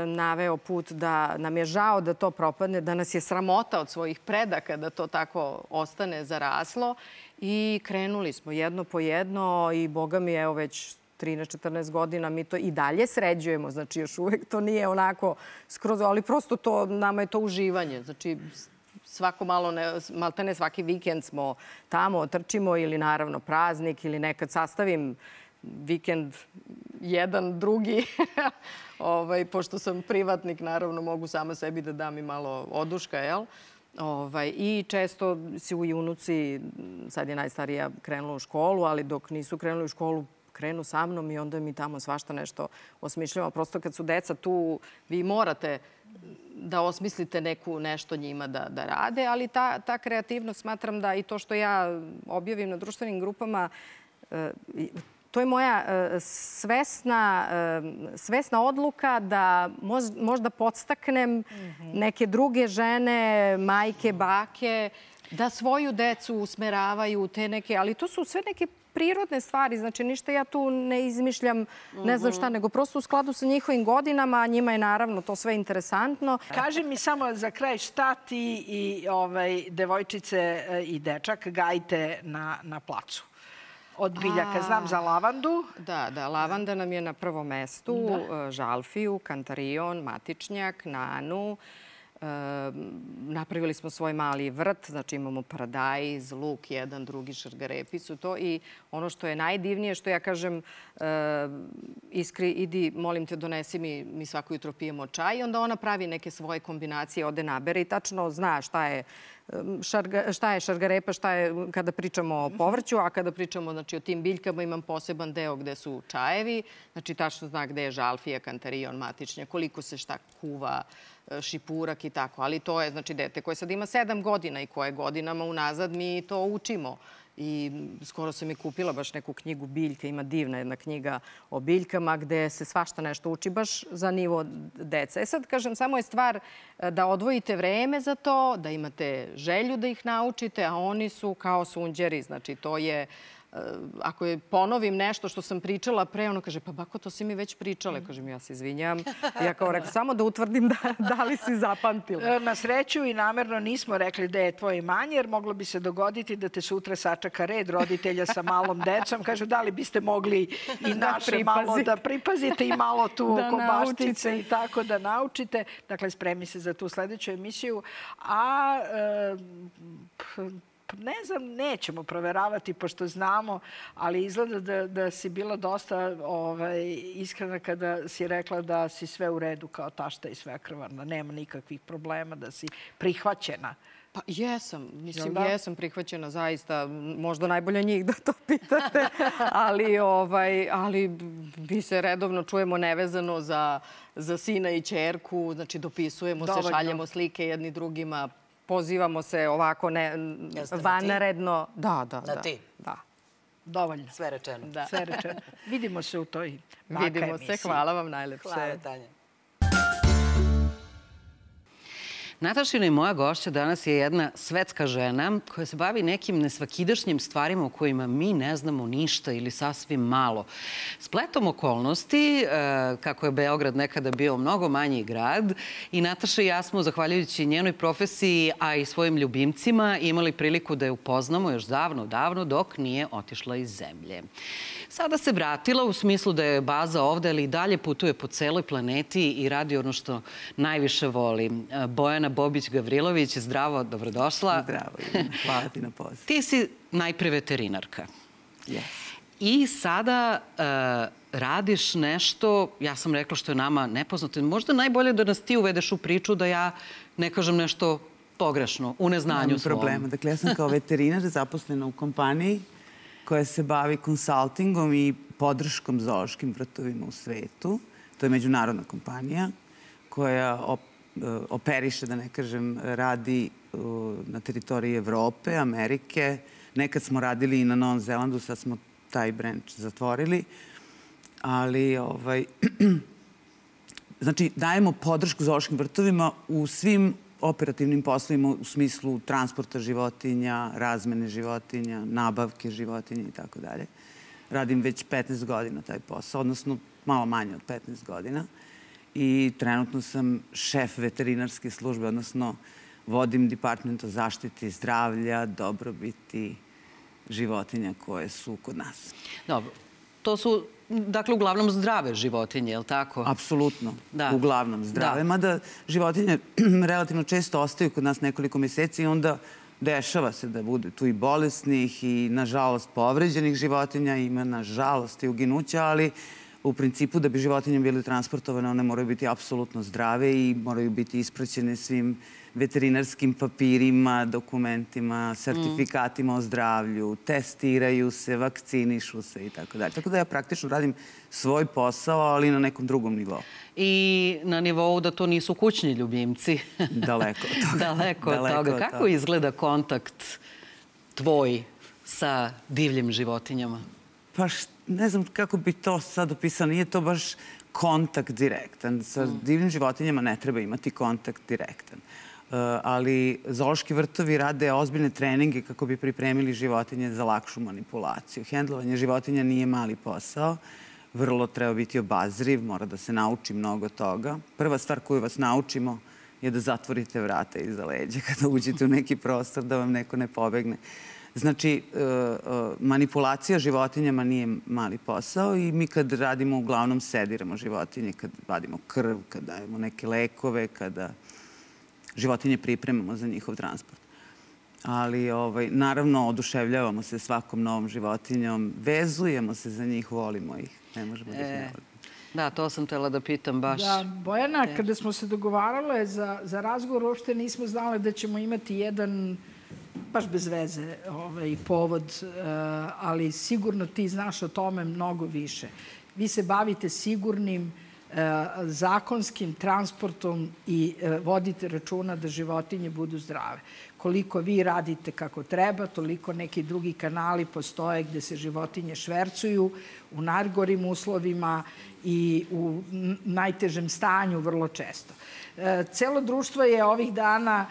naveo put da nam je žao da to propadne, da nas je sramota od svojih predaka da to tako ostane zaraslo i krenuli smo jedno po jedno i boga mi evo već 13-14 godina mi to i dalje sređujemo, znači još uvek to nije onako skroz, ali prosto to, nama je to uživanje, znači svako malo, maltene svaki vikend smo tamo, trčimo ili naravno praznik ili nekad sastavim vikend jedan, drugi. Pošto sam privatnik, naravno mogu sama sebi da dam i malo oduška, jel? I često su i unuci, sad je najstarija krenula u školu, ali dok nisu krenuli u školu, krenu sa mnom i onda mi tamo svašta nešto osmišljamo. Prosto kad su deca tu, vi morate da osmislite nešto njima da rade, ali ta kreativnost smatram da i to što ja objavim na društvenim grupama, to je moja svesna odluka da možda podstaknem neke druge žene, majke, bake, da svoju decu usmeravaju te neke, ali to su sve neke prirodne stvari, znači ništa ja tu ne izmišljam, ne znam šta, nego prosto u skladu sa njihovim godinama, a njima je naravno to sve interesantno. Kaži mi samo za kraj šta ti i devojčice i dečak gajite na placu? Od biljaka. Znam za lavandu. Da, lavanda nam je na prvom mestu, žalfiju, kantarion, matičnjak, nanu. Napravili smo svoj mali vrt, znači imamo paradajz, luk, jedan, drugi, šargarepicu, to. I ono što je najdivnije, što ja kažem, Iskri, idi, molim te, donesi mi svako jutro pijemo čaj. I onda ona pravi neke svoje kombinacije, ode nabere i tačno zna šta je šargarepa, šta je kada pričamo o povrću, a kada pričamo o tim biljkama imam poseban deo gde su čajevi, znači tačno zna gde je žalfija, kantarion, matičnjak, koliko se šta kuva, šipurak i tako. Ali to je znači dete koje sad ima 7 godina i koje godinama unazad mi to učimo. I skoro sam i kupila baš neku knjigu biljke, ima divna jedna knjiga o biljkama gde se svašta nešto uči baš za nivo dece. Sad kažem, samo je stvar da odvojite vreme za to, da imate želju da ih naučite, a oni su kao sunđeri, znači to je... Ako je ponovim nešto što sam pričala pre, ono kaže, pa bako, to si mi već pričala. Kažem, ja se izvinjam. Ja kao rekao, samo da utvrdim da li si zapamtila. Na sreću i namerno nismo rekli da je tvoje imanje, jer moglo bi se dogoditi da te sutra sačeka red roditelja sa malom decom. Kažu, da li biste mogli i naše malo da pripazite i malo tu oko baštice i tako da naučite. Dakle, spremi se za tu sledeću emisiju. A... ne znam, nećemo proveravati pošto znamo, ali izgleda da si bila dosta iskrena kada si rekla da si sve u redu kao tašta i svekrvarna. Nema nikakvih problema, da si prihvaćena. Pa jesam, mislim, jesam prihvaćena zaista, možda najbolje njih da to pitate, ali mi se redovno čujemo nevezano za sina i ćerku, znači dopisujemo se, šaljemo slike jedni drugima, pozivamo se ovako vanredno. Da. Na ti? Da. Dovoljno. Sve rečeno. Sve rečeno. Vidimo se u toj baka emisiji. Vidimo se, hvala vam najlepše. Hvala, Tanja. Natašina i moja gošća danas je jedna svetska žena koja se bavi nekim nesvakidašnjim stvarima o kojima mi ne znamo ništa ili sasvim malo. Spletom okolnosti, kako je Beograd nekada bio mnogo manji grad, i Nataša i ja smo, zahvaljujući njenoj profesiji, a i svojim ljubimcima, imali priliku da je upoznamo još davno, dok nije otišla iz zemlje. Sada se vratila u smislu da je baza ovde, ali i dalje putuje po celoj planeti i radi ono što najviše voli. Bojana Bobić-Gavrilović, zdravo, dobrodošla. Zdravo, hvala ti na pozivu. Ti si najpre veterinarka. Yes. I sada radiš nešto, ja sam rekla što je nama nepoznato. Možda najbolje da nas ti uvedeš u priču, da ja ne kažem nešto pogrešno, u neznanju svom. Nema problema. Dakle, ja sam kao veterinar zaposlena u kompaniji koja se bavi konsaltingom i podrškom zoološkim vrtovima u svetu. To je međunarodna kompanija koja operiše, da ne kažem, radi na teritoriji Evrope, Amerike. Nekad smo radili i na Novom Zelandu, sad smo taj branch zatvorili. Ali, znači, dajemo podršku zoološkim vrtovima u svim operativnim poslovima u smislu transporta životinja, razmene životinja, nabavke životinja i tako dalje. Radim već 15 godina taj posao, odnosno malo manje od 15 godina. I trenutno sam šef veterinarske službe, odnosno vodim department o zaštiti zdravlja, dobrobiti životinja koje su kod nas. Dobro. To su, dakle, uglavnom zdrave životinje, je li tako? Apsolutno. Uglavnom zdrave. Mada životinje relativno često ostaju kod nas nekoliko mjeseci i onda dešava se da bude tu i bolesnih i, nažalost, povređenih životinja. Ima, nažalost, i uginuća, ali u principu da bi životinje bile transportovane, one moraju biti apsolutno zdrave i moraju biti ispraćene svim veterinarskim papirima, dokumentima, sertifikatima o zdravlju, testiraju se, vakcinišu se i tako dalje. Tako da ja praktično radim svoj posao, ali na nekom drugom nivou. I na nivou da to nisu kućni ljubimci. Daleko od toga. Daleko od toga. Kako izgleda kontakt tvoj sa divljim životinjama? Pa ne znam kako bi to sad opisao. Nije to baš kontakt direktan. Sa divljim životinjama ne treba imati kontakt direktan. Ali zoološki vrtovi rade ozbiljne treninge kako bi pripremili životinje za lakšu manipulaciju. Hendlovanje životinja nije mali posao. Vrlo treba biti obazriv, mora da se nauči mnogo toga. Prva stvar koju vas naučimo je da zatvorite vrata iza leđa kada uđete u neki prostor, da vam neko ne pobegne. Znači, manipulacija životinjama nije mali posao i mi kad radimo, uglavnom sediramo životinje, kad vadimo krv, kad dajemo neke lekove, kada životinje pripremamo za njihov transport. Ali, naravno, oduševljavamo se svakom novom životinjom, vezujemo se za njih, volimo ih. Ne možemo da ih ne volimo. Da, to sam htjela da pitam baš. Da, Bojana, kada smo se dogovarale za razgovor, uopšte nismo znali da ćemo imati jedan, baš bez veze, povod, ali sigurno ti znaš o tome mnogo više. Vi se bavite sigurnim zakonskim transportom i vodite računa da životinje budu zdrave. Koliko vi radite kako treba, toliko neki drugi kanali postoje gde se životinje švercuju u najgorim uslovima i u najtežem stanju vrlo često. Celo društvo je ovih dana,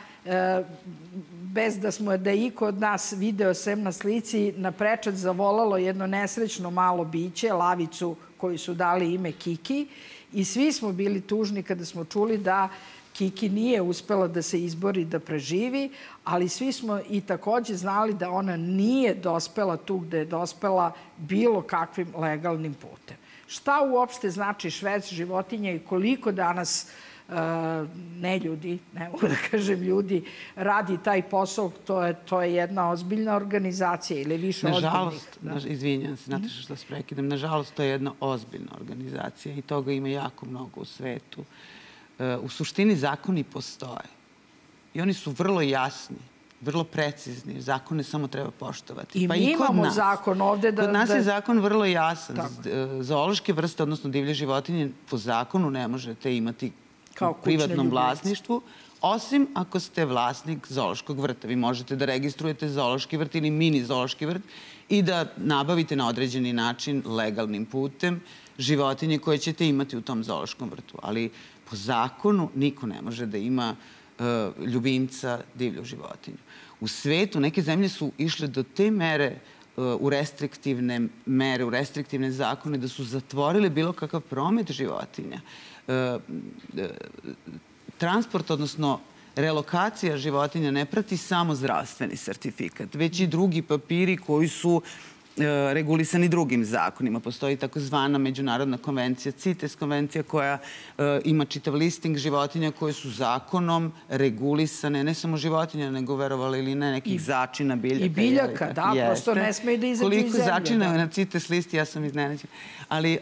bez da je iko od nas video sem na slici, na prečac zavolalo jedno nesrećno malo biće, lavicu koju su dali ime Kiki, i svi smo bili tužni kada smo čuli da Kiki nije uspela da se izbori, da preživi, ali svi smo i takođe znali da ona nije dospela tu gde je dospela bilo kakvim legalnim putem. Šta uopšte znači šverc životinja i koliko danas ne ljudi, ne mogu da kažem ljudi, radi taj posao, to je jedna ozbiljna organizacija ili više ozbiljnih. Nažalost, izvinjam se, znate što se prekidam, nažalost to je jedna ozbiljna organizacija i toga ima jako mnogo u svetu. U suštini zakoni postoje i oni su vrlo jasni, vrlo precizni. Zakone samo treba poštovati. I mi imamo zakon ovde da... Kod nas je zakon vrlo jasan. Zoološke vrste, odnosno divlje životinje, po zakonu ne možete imati u privatnom vlasništvu, osim ako ste vlasnik zoološkog vrta. Vi možete da registrujete zoološki vrt ili mini zoološki vrt i da nabavite na određeni način legalnim putem životinje koje ćete imati u tom zoološkom vrtu. Ali po zakonu niko ne može da ima ljubimca, divlju životinju. U svetu neke zemlje su išle do te mere u restriktivne mere, u restriktivne zakone, da su zatvorile bilo kakav promet životinja. Transport, odnosno relokacija životinja ne prati samo zdravstveni sertifikat, već i drugi papiri koji su regulisani drugim zakonima. Postoji takozvana međunarodna konvencija, CITES konvencija, koja ima čitav listing životinja koje su zakonom regulisane, ne samo životinja, nego, verovali ili ne, nekih začina, biljaka. I biljaka, da, prosto ne smeju da izađu iz zemlje. Koliko začina je na CITES listi, ja sam iznenađena. Ali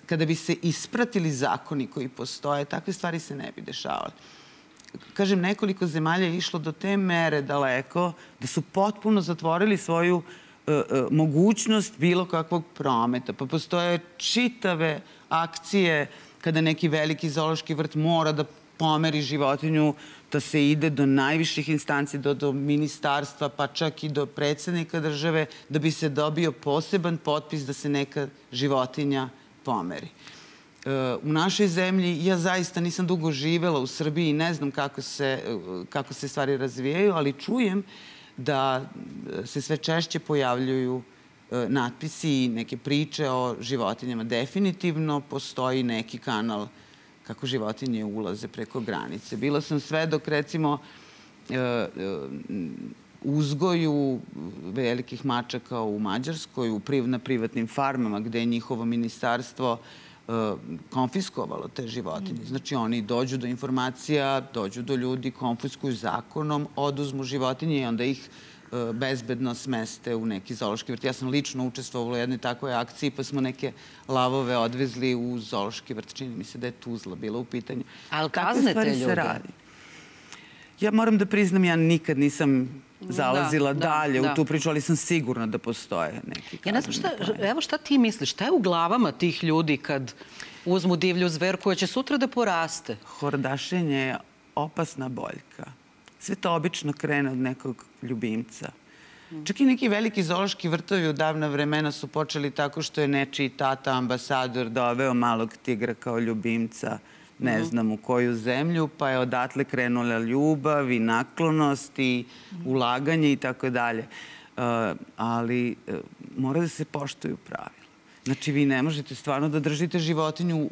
kada bi se ispratili zakoni koji postoje, takve stvari se ne bi dešavale. Kažem, nekoliko zemalja je išlo do te mere daleko da su potpuno zatvorili svoju mogućnost bilo kakvog prometa. Pa postoje čitave akcije kada neki veliki zoološki vrt mora da pomeri životinju, da se ide do najviših instanci, do ministarstva, pa čak i do predsjednika države, da bi se dobio poseban potpis da se neka životinja pomeri. U našoj zemlji, ja zaista nisam dugo živela u Srbiji i ne znam kako se stvari razvijaju, ali čujem da se sve češće pojavljuju natpisi i neke priče o životinjama. Definitivno postoji neki kanal kako životinje ulaze preko granice. Bila sam svedok, recimo, uzgoju velikih mačaka u Mađarskoj, na privatnim farmama, gde je njihovo ministarstvo konfiskovalo te životinje. Znači, oni dođu do informacija, dođu do ljudi, konfiskuju zakonom, oduzmu životinje i onda ih bezbedno smeste u neki zoološki vrt. Ja sam lično učestvovala u jednoj takvoj akciji, pa smo neke lavove odvezli u zoološki vrt. Čini mi se da je Tuzla bila u pitanju. Ali kazne te ljude? Ja moram da priznam, ja nikad nisam zalazila dalje u tu priču, ali sam sigurna da postoje neki kazneni. Ja ne znam evo šta ti misliš, šta je u glavama tih ljudi kad uzmu divlju zver koja će sutra da poraste? Hordašenje je opasna boljka. Sve to obično krene od nekog ljubimca. Čak i neki veliki zoološki vrtovi u davna vremena su počeli tako što je nečiji tata ambasador doveo malog tigra kao ljubimca, ne znam u koju zemlju, pa je odatle krenula ljubav i naklonost i ulaganje i tako dalje. Ali mora da se poštuju pravila. Znači, vi ne možete stvarno da držite životinju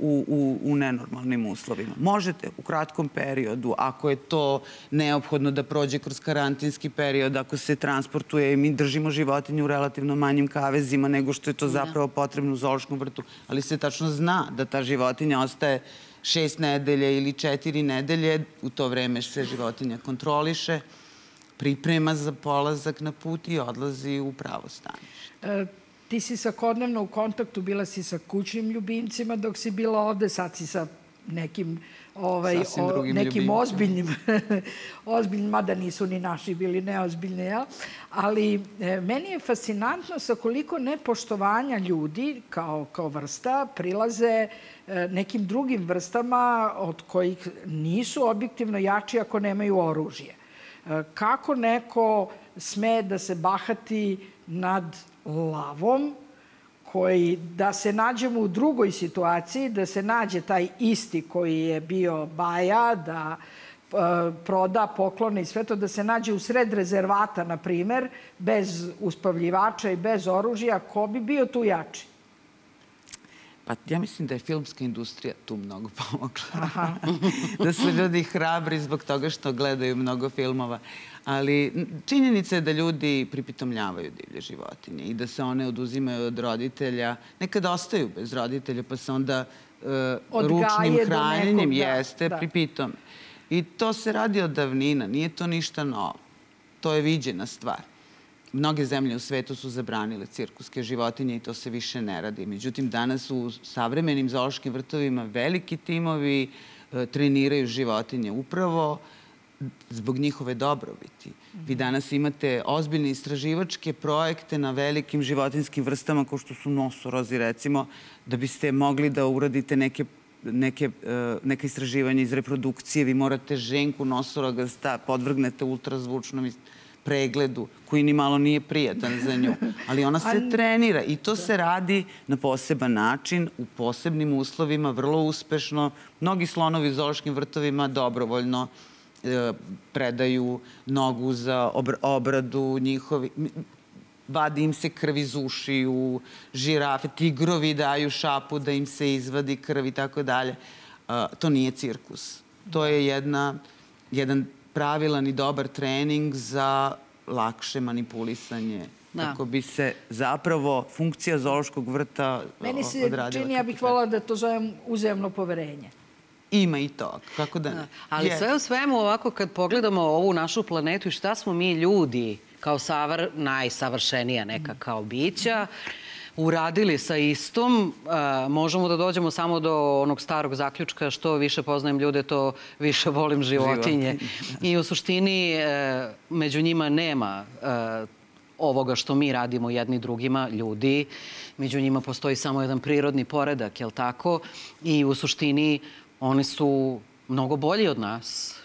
u nenormalnim uslovima. Možete u kratkom periodu, ako je to neophodno da prođe kroz karantinski period, ako se transportuje i mi držimo životinju u relativno manjim kavezima nego što je to zapravo potrebno u zoološkom vrtu. Ali se tačno zna da ta životinja ostaje 6 nedelje ili 4 nedelje. U to vreme se životinja kontroliše, priprema za polazak na put i odlazi u pravo stanište. Ti si svakodnevno u kontaktu, bila si sa kućnim ljubimcima dok si bila ovde, sad si sa nekim ozbiljnim, mada nisu ni naši bili neozbiljni, ali meni je fascinantno sa koliko nepoštovanja ljudi kao vrsta prilaze nekim drugim vrstama od kojih nisu objektivno jači ako nemaju oružje. Kako neko sme da se bahati nad lavom, koji, da se nađemo u drugoj situaciji, da se nađe taj isti koji je bio baja, da proda, poklone i sve to, da se nađe u sred rezervata, na primer, bez uspavljivača i bez oružja, ko bi bio tu jači? Pa ja mislim da je filmska industrija tu mnogo pomogla. Da su ljudi hrabri zbog toga što gledaju mnogo filmova. Ali činjenica je da ljudi pripitomljavaju divlje životinje i da se one oduzimaju od roditelja. Nekada ostaju bez roditelja, pa se onda ručnim hranjenjem pripitom. I to se radi od davnina, nije to ništa novo. To je viđena stvar. Mnoge zemlje u svetu su zabranile cirkuske životinje i to se više ne radi. Međutim, danas u savremenim zoološkim vrtovima veliki timovi treniraju životinje upravo zbog njihove dobrobiti. Vi danas imate ozbiljne istraživačke projekte na velikim životinjskim vrstama kao što su nosorozi, recimo, da biste mogli da uradite neka istraživanja iz reprodukcije. Vi morate ženku nosoroga podvrgnete ultrazvučnom pregledu, koji ni malo nije prijatan za nju. Ali ona se trenira i to se radi na poseban način, u posebnim uslovima, vrlo uspešno. Mnogi slonovi u zoološkim vrtovima dobrovoljno predaju nogu za obradu njihovi. Vadi im se krv iz ušiju, žirafe, tigrovi daju šapu da im se izvadi krv i tako dalje. To nije cirkus. To je jedan pravilan i dobar trening za lakše manipulisanje. Kako bi se zapravo funkcija zoološkog vrta odradila. Meni se čini, ja bih voljela da to zovem uzajamno poverenje. Ima i to, kako da ne. Ali sve u svemu ovako kad pogledamo ovu našu planetu i šta smo mi ljudi kao najsavršenija neka kao bića, uradili sa istom, možemo da dođemo samo do onog starog zaključka što više poznajem ljude, to više volim životinje. I u suštini među njima nema ovoga što mi radimo jedni drugima, ljudi. Među njima postoji samo jedan prirodni poredak, jel tako? I u suštini oni su mnogo bolji od nas.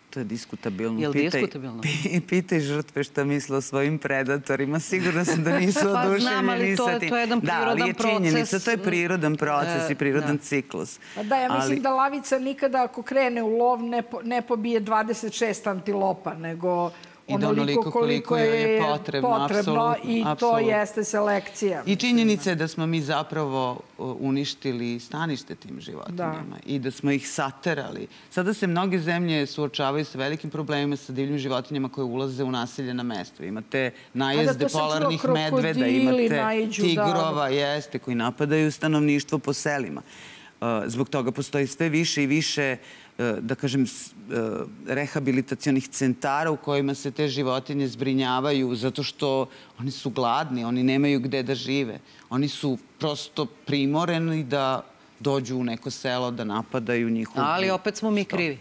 To je diskutabilno. Je li diskutabilno? Pitaj žrtve šta misle o svojim predatorima. Sigurno sam da nisu oduševljeni. Pa znam, ali to je jedan prirodan proces. Da, ali je činjenica. To je prirodan proces i prirodan ciklus. Da, ja mislim da lavica nikada ako krene u lov ne pobije 26 antilopa, nego onoliko koliko je potrebno i to jeste selekcija. I činjenica je da smo mi zapravo uništili stanište tim životinjama i da smo ih saterali. Sada se mnoge zemlje suočavaju sa velikim problemima sa divljim životinjama koje ulaze u naseljena mesta. Imate najezde polarnih medveda, imate tigrova, koji napadaju stanovništvo po selima. Zbog toga postoji sve više i više, da kažem, rehabilitacionih centara u kojima se te životinje zbrinjavaju zato što oni su gladni, oni nemaju gde da žive. Oni su prosto primoreni da dođu u neko selo, da napadaju njihovu... Ali opet smo mi krivi.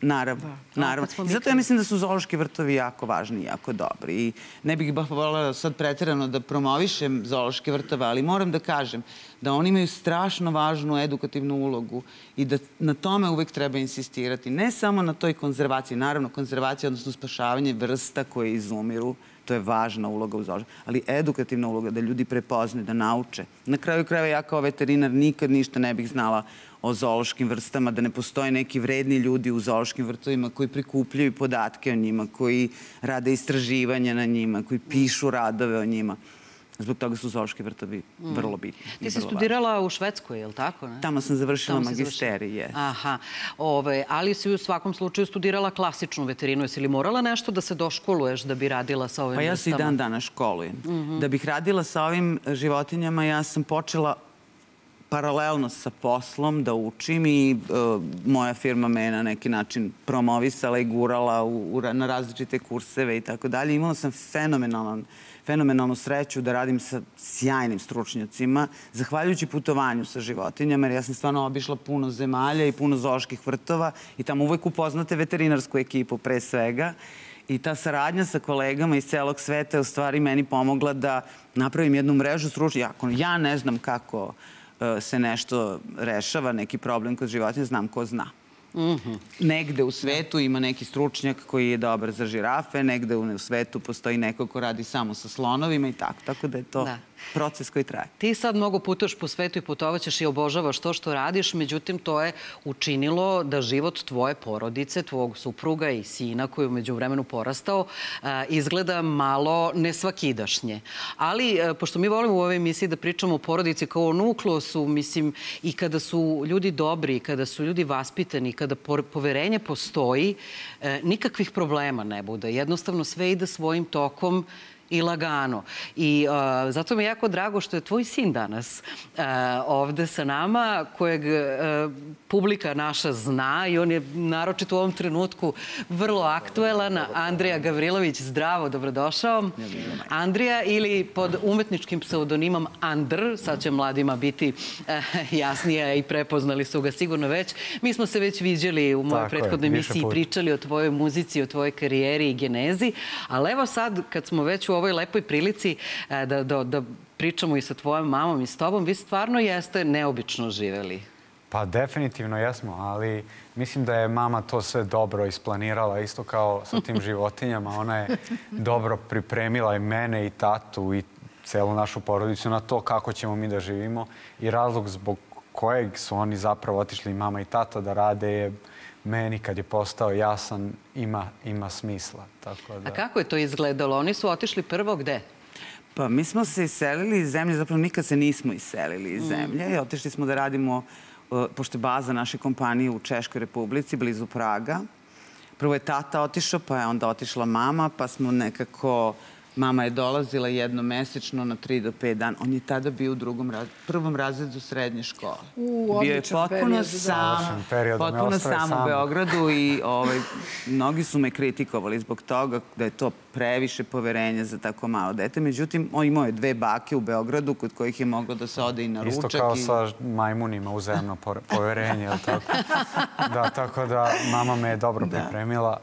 Naravno, naravno. Zato ja mislim da su zoološki vrtovi jako važni i jako dobri. I ne bih baš voljela sad preterano da promovišem zoološke vrtove, ali moram da kažem da oni imaju strašno važnu edukativnu ulogu i da na tome uvek treba insistirati. Ne samo na toj konzervaciji, naravno konzervacija, odnosno spašavanje vrsta koje izumiru, to je važna uloga u zoološkom, ali edukativna uloga da ljudi prepoznaju, da nauče. Na kraju krajeva ja kao veterinar nikad ništa ne bih znala o zoološkim vrstama, da ne postoje neki vredni ljudi u zoološkim vrtovima koji prikupljaju podatke o njima, koji rade istraživanja na njima, koji pišu radove o njima. Zbog toga su zoološki vrtovi vrlo bitni. Ti si studirala u Švedskoj, je li tako? Tamo sam završila magisterij, jes. Aha. Ali si u svakom slučaju studirala klasičnu veterinu. Jesi li morala nešto da se doškoluješ da bi radila sa ovim vrstama? Pa ja se i dan danas školujem. Da bih radila sa ovim životinjama, ja sam počela paralelno sa poslom da učim i moja firma me je na neki način promovisala i gurala na različite kurseve i tako dalje. Imala sam fenomenalnu sreću da radim sa sjajnim stručnjacima, zahvaljujući putovanju sa životinjama, jer ja sam stvarno obišla puno zemalja i puno zooloških vrtova i tamo uvek upoznate veterinarsku ekipu pre svega. I ta saradnja sa kolegama iz celog sveta je u stvari meni pomogla da napravim jednu mrežu stručnjaka. Ako ja ne znam kako se nešto rešava, neki problem kod životinja, znam ko zna. Negde u svetu ima neki stručnjak koji je dobar za žirafe, negde u svetu postoji neko ko radi samo sa slonovima i tako. Tako da je to proces koji traje. Ti sad mnogo putuješ po svetu i putovaćeš i obožavaš to što radiš, međutim to je učinilo da život tvoje porodice, tvog supruga i sina koji je umeđu vremenu porastao, izgleda malo nesvakidašnje. Ali, pošto mi volimo u ovoj emisiji da pričamo o porodici kao o nukleosu, mislim, i kada su ljudi dobri, kada su ljudi vaspitani, kada poverenje postoji, nikakvih problema ne bude. Jednostavno sve ide svojim tokom i lagano. I zato mi je jako drago što je tvoj sin danas ovde sa nama, kojeg publika naša zna i on je naročito u ovom trenutku vrlo aktuelan. Andrija Gavrilović, zdravo, dobrodošao. Andrija ili pod umetničkim pseudonimom Andr, sad će mladima biti jasnije i prepoznali su ga sigurno već. Mi smo se već viđali u mojoj prethodnoj emisiji i pričali o tvojoj muzici, o tvojoj karijeri i genezi, ali evo sad kad smo već u ovoj lepoj prilici da pričamo i sa tvojom mamom i s tobom, vi stvarno jeste neobično živeli. Pa definitivno jesmo, ali mislim da je mama to sve dobro isplanirala, isto kao sa tim životinjama. Ona je dobro pripremila i mene i tatu i celu našu porodicu na to kako ćemo mi da živimo. I razlog zbog kojeg su oni zapravo otišli, mama i tata, da rade je meni kad je postao jasan, ima smisla. Tako da... A kako je to izgledalo? Oni su otišli prvo gde? Pa mi smo se iselili iz zemlje, zapravo nikad se nismo iselili iz zemlje i otišli smo da radimo, pošto je baza naše kompanije u Češkoj Republici, blizu Praga. Prvo je tata otišao, pa je onda otišla mama, pa smo nekako... Mama je dolazila jednomesečno na 3 do 5 dana. On je tada bio u prvom razredu srednje škole. Bio je potpuno sam u Beogradu i mnogi su me kritikovali zbog toga da je to previše poverenja za tako malo dete. Međutim, on imao je 2 bake u Beogradu kod kojih je moglo da se ode i na ručak. Isto kao sa majmunima, uzajemno poverenje. Da, tako da mama me je dobro pripremila.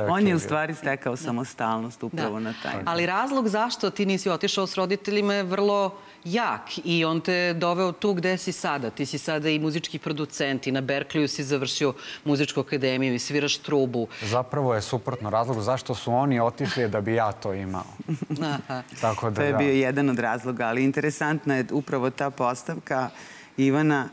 On je u stvari stekao samostalnost upravo na taj. Ali razlog zašto ti nisi otišao s roditeljima je vrlo jak i on te doveo tu gde si sada. Ti si sada i muzički producent i na Berkliju si završio muzičku akademiju i sviraš trubu. Zapravo je suprotno razlog zašto su oni otišli da bi ja to imao. To je bio jedan od razloga, ali interesantna je upravo ta postavka Ivana.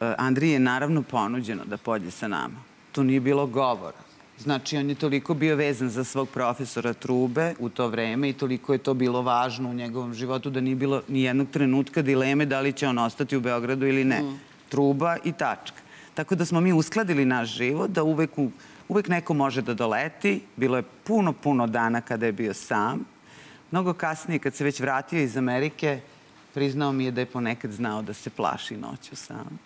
Andriji je naravno ponuđeno da pođe sa nama. To nije bilo govora. Znači, on je toliko bio vezan za svog profesora trube u to vreme i toliko je to bilo važno u njegovom životu da nije bilo ni jednog trenutka dileme da li će on ostati u Beogradu ili ne. Truba i tačka. Tako da smo mi uskladili naš život, da uvek neko može da doleti. Bilo je puno dana kada je bio sam. Mnogo kasnije, kad se već vratio iz Amerike, priznao mi je da je ponekad znao da se plaši noću sam.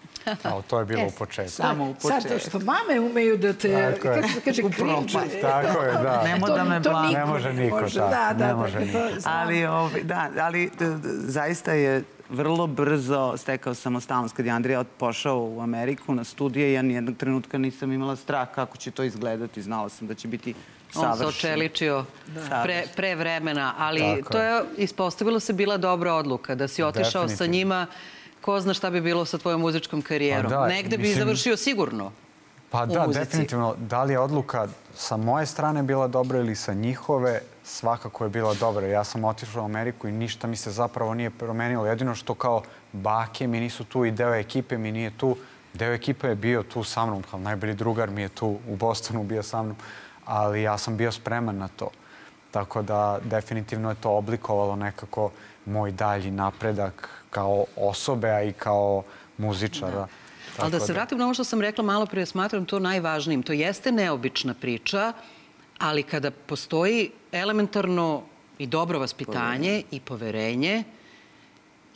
To je bilo u početku. Samo u početku. Sad to što mame umeju da te, kako se kaže, krinče. Tako je, da. Nemo da me blama. Ne može niko, ne može niko. Ali zaista je vrlo brzo stekao samostalnost. Kad je Andrija pošao u Ameriku na studije, ja nijednog trenutka nisam imala strah kako će to izgledati. Znala sam da će biti savršen. On se očeličio pre vremena, ali to je, ispostavilo se, bila dobra odluka. Da si otišao sa njima, ko zna šta bi bilo sa tvojom muzičkom karijerom. Negde bi završio sigurno. Pa da, definitivno. Da li je odluka sa moje strane bila dobra ili sa njihove, svakako je bila dobra. Ja sam otišao u Ameriku i ništa mi se zapravo nije promenilo. Jedino što kao bake mi nisu tu i deo ekipe mi nije tu. Deo ekipe je bio tu sa mnom, kao najbolji drugar mi je tu u Bostonu bio sa mnom, ali ja sam bio spreman na to. Tako da definitivno je to oblikovalo nekako moj dalji napredak kao osobe, a i kao muzičara. Ali da se vratim na ovo što sam rekla malo prije, smatram to najvažnijim. To jeste neobična priča, ali kada postoji elementarno i dobro vaspitanje i poverenje,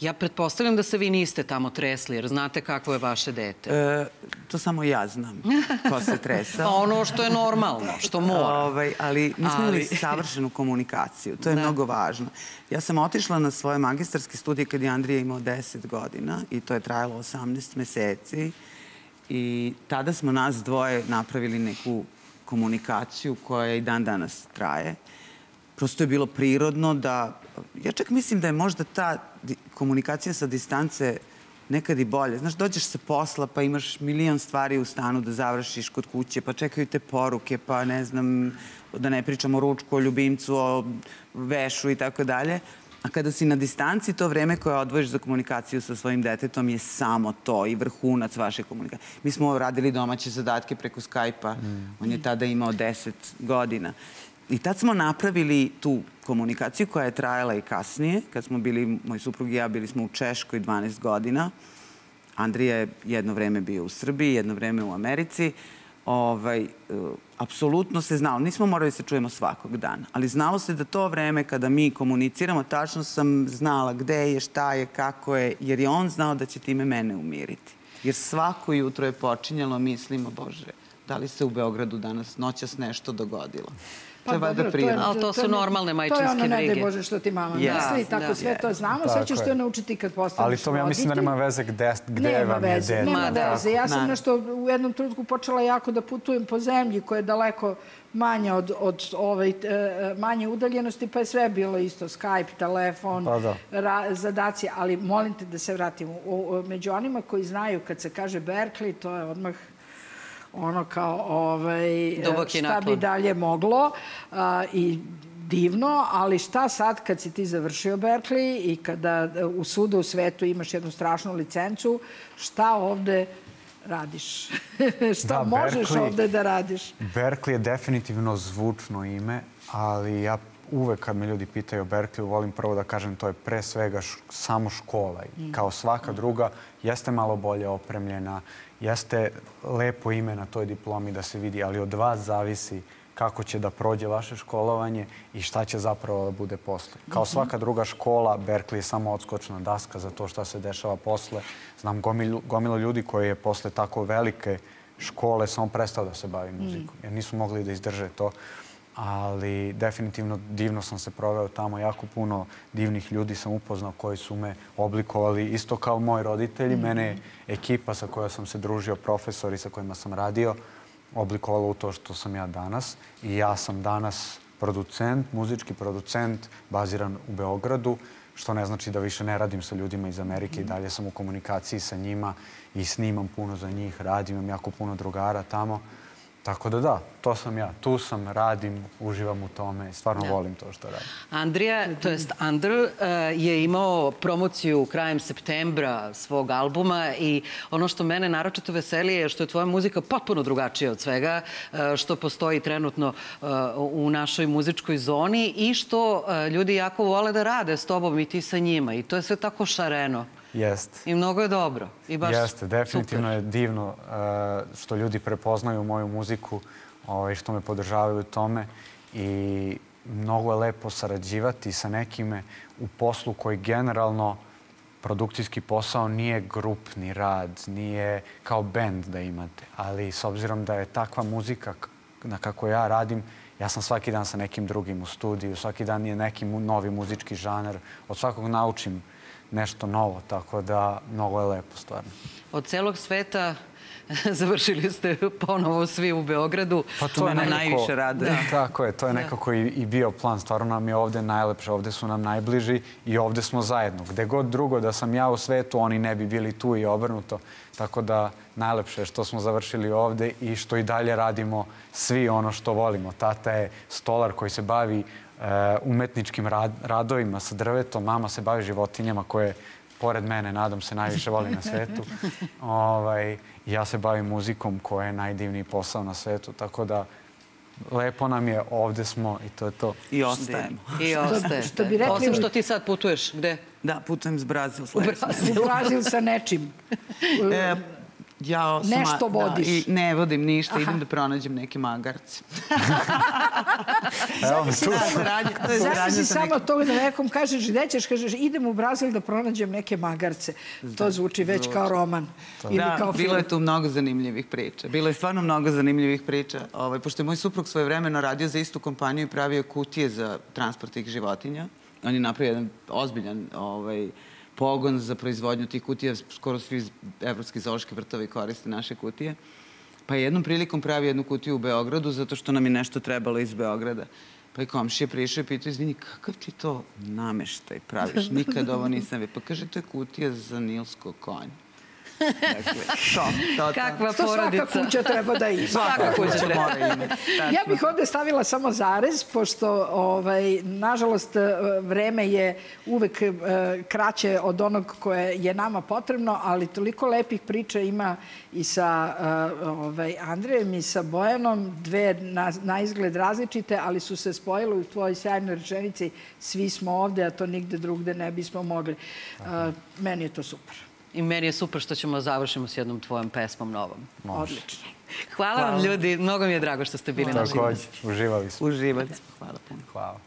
ja pretpostavljam da se vi niste tamo tresli, jer znate kako je vaše dete. To samo ja znam ko se tresao. Pa ono što je normalno, što mora. Ali mi smo imali savršenu komunikaciju. To je mnogo važno. Ja sam otišla na svoje magistarske studije kad je Andrija imao 10 godina i to je trajalo 18 meseci. I tada smo nas dvoje napravili neku komunikaciju koja i dan danas traje. Prosto je bilo prirodno da... Ja čak mislim da je možda ta komunikacija sa distance nekad i bolje. Znaš, dođeš sa posla pa imaš milion stvari u stanu da završiš kod kuće, pa čekaju te poruke, pa ne znam, da ne pričamo o ručku, o ljubimcu, o vešu i tako dalje. A kada si na distanci, to vreme koje odvojiš za komunikaciju sa svojim detetom je samo to i vrhunac vaše komunikacije. Mi smo radili domaće zadatke preko Skype-a. On je tada imao 10 godina. I tad smo napravili tu komunikaciju koja je trajala i kasnije. Kad smo bili, moj suprug i ja, bili smo u Češkoj 12 godina. Andrija je jedno vreme bio u Srbiji, jedno vreme u Americi. Apsolutno se znalo. Nismo morali se čujemo svakog dana. Ali znalo se da to vreme kada mi komuniciramo, tačno sam znala gde je, šta je, kako je, jer je on znao da će time mene umiriti. Jer svako jutro je počinjalo, mislimo, Bože, Da li se u Beogradu danas noćas nešto dogodilo? Pa To je valjda prirodno. Ali to su normalne majčinske brige. To je ono, ne daj brige. Bože, što ti mama Ja, misli, tako sve to znamo. Sve ćeš to naučiti kad postaneš Ali to ja mislim da nema veze gde vam je dete. Nema veze. Ja sam nešto u jednom trenutku počela jako da putujem po zemlji koja je daleko manja od manje udaljenosti, pa je sve bilo isto. Skype, telefon, zadaci. Ali molim te da se vratimo. Među onima koji znaju kad se kaže Berkeley, to je odmah ono kao šta bi dalje moglo i divno, ali šta sad kad si ti završio Berkeley i kada u svuda u svetu imaš jednu strašnu licencu, šta ovde radiš? Šta možeš ovde da radiš? Berkeley je definitivno zvučno ime, ali ja uvek kad me ljudi pitaju o Berkeleyu, volim prvo da kažem to je pre svega samo škola. Kao svaka druga, jeste malo bolje opremljena, jeste lepo ime na toj diplomi da se vidi, ali od vas zavisi kako će da prođe vaše školovanje i šta će zapravo da bude posle. Kao svaka druga škola, Berkeley je samo odskočna daska za to šta se dešava posle. Znam gomilo ljudi koji je posle tako velike škole samo prestao da se bavi muzikom, jer nisu mogli da izdrže to. Ali definitivno divno sam se proveo tamo. Jako puno divnih ljudi sam upoznao koji su me oblikovali isto kao moji roditelji. Mene je ekipa sa kojoj sam se družio, profesori sa kojima sam radio, oblikovala u to što sam ja danas. I ja sam danas producent, muzički producent, baziran u Beogradu, što ne znači da više ne radim sa ljudima iz Amerike. I dalje sam u komunikaciji sa njima i snimam puno za njih, radim, imam jako puno drugara tamo. Tako da, to sam ja. Tu sam, radim, uživam u tome. Stvarno volim to što radim. Andrija, to jest Andr, je imao promociju krajem septembra svog albuma i ono što mene naročito veseli je što je tvoja muzika potpuno drugačija od svega što postoji trenutno u našoj muzičkoj zoni i što ljudi jako vole da rade s tobom i ti sa njima. I to je sve tako šareno. Jeste. I mnogo je dobro. Jeste, definitivno je divno što ljudi prepoznaju moju muziku i što me podržavaju u tome. I mnogo je lepo sarađivati sa nekime u poslu koji generalno produkcijski posao nije grupni rad, nije kao bend da imate. Ali s obzirom da je takva muzika na kako ja radim, ja sam svaki dan sa nekim drugim u studiju, svaki dan je neki novi muzički žanar, od svakog naučim nešto novo, tako da mnogo je lepo stvarno. Od celog sveta završili ste ponovo svi u Beogradu. Pa to mene najviše rade. Tako je, to je nekako i bio plan. Stvarno nam je ovde najlepše, ovde su nam najbliži i ovde smo zajedno. Gde god drugo da sam ja u svetu, oni ne bi bili tu i obrnuto. Tako da najlepše je što smo završili ovde i što i dalje radimo svi ono što volimo. Tata je stolar koji se bavi umetničkim radovima sa drvetom. Mama se bavi životinjama koje, pored mene, nadam se, najviše voli na svetu. Ja se bavim muzikom koja je najdivniji posao na svetu. Tako da, lepo nam je, ovde smo i to je to. I ostajemo. I ostajete. Osim što ti sad putuješ, gde? Da, putujem s Brazil. U Brazil sa nečim. Nešto vodiš. Ne vodim ništa, idem da pronađem neke magarce. Evo mi tu. Zamisli samo to da nekom kažeš, gde ćeš, kažeš, idem u Brazil da pronađem neke magarce. To zvuči već kao roman. Da, bilo je tu mnogo zanimljivih priča. Bilo je stvarno mnogo zanimljivih priča. Pošto je moj suprug svojevremeno radio za istu kompaniju i pravio kutije za transport tih životinja. On je napravio jedan ozbiljan pogon za proizvodnju tih kutija. Skoro svi evropski zoološki vrtovi koriste naše kutije. Pa je jednom prilikom pravi jednu kutiju u Beogradu zato što nam je nešto trebalo iz Beograda. Pa je komšija prišao i pitao, izvini, kakav ti to nameštaj praviš? Nikad ovo nisam vidio. Pa kaže, to je kutija za nilsko konje. Kakva porodica. Svaka kuća treba da ima. Svaka kuća mora imati. Ja bih ovde stavila samo zarez, pošto, nažalost, vreme je uvek kraće od onog koje je nama potrebno, ali toliko lepih priča ima i sa Andrejem i sa Bojanom, dve na izgled različite, ali su se spojile u tvojoj sjajnoj rečenici. Svi smo ovde, a to nigde drugde ne bismo mogli. Meni je to super. I meni je super što ćemo završimo s jednom tvojom pesmom novom. Odlično. Hvala vam, ljudi. Mnogo mi je drago što ste bili naši gosti. Uživali smo. Uživali smo. Hvala puno. Hvala.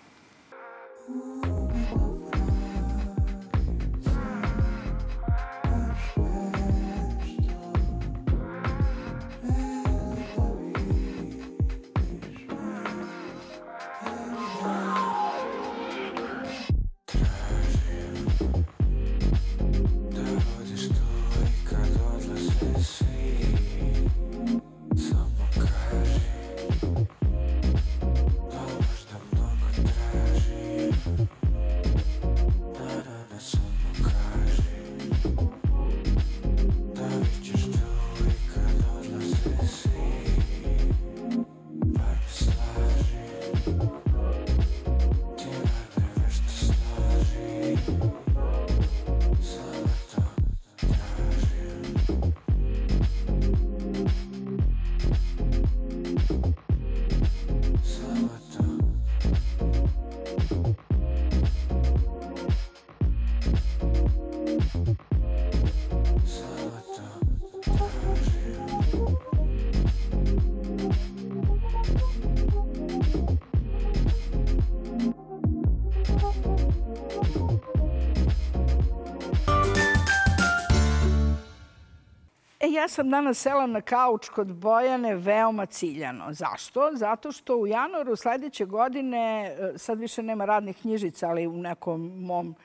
ja sam danas sela na kauč kod Bojane veoma ciljano. Zašto? Zato što u januaru sledeće godine, sad više nema radnih knjižica, ali u nekom mom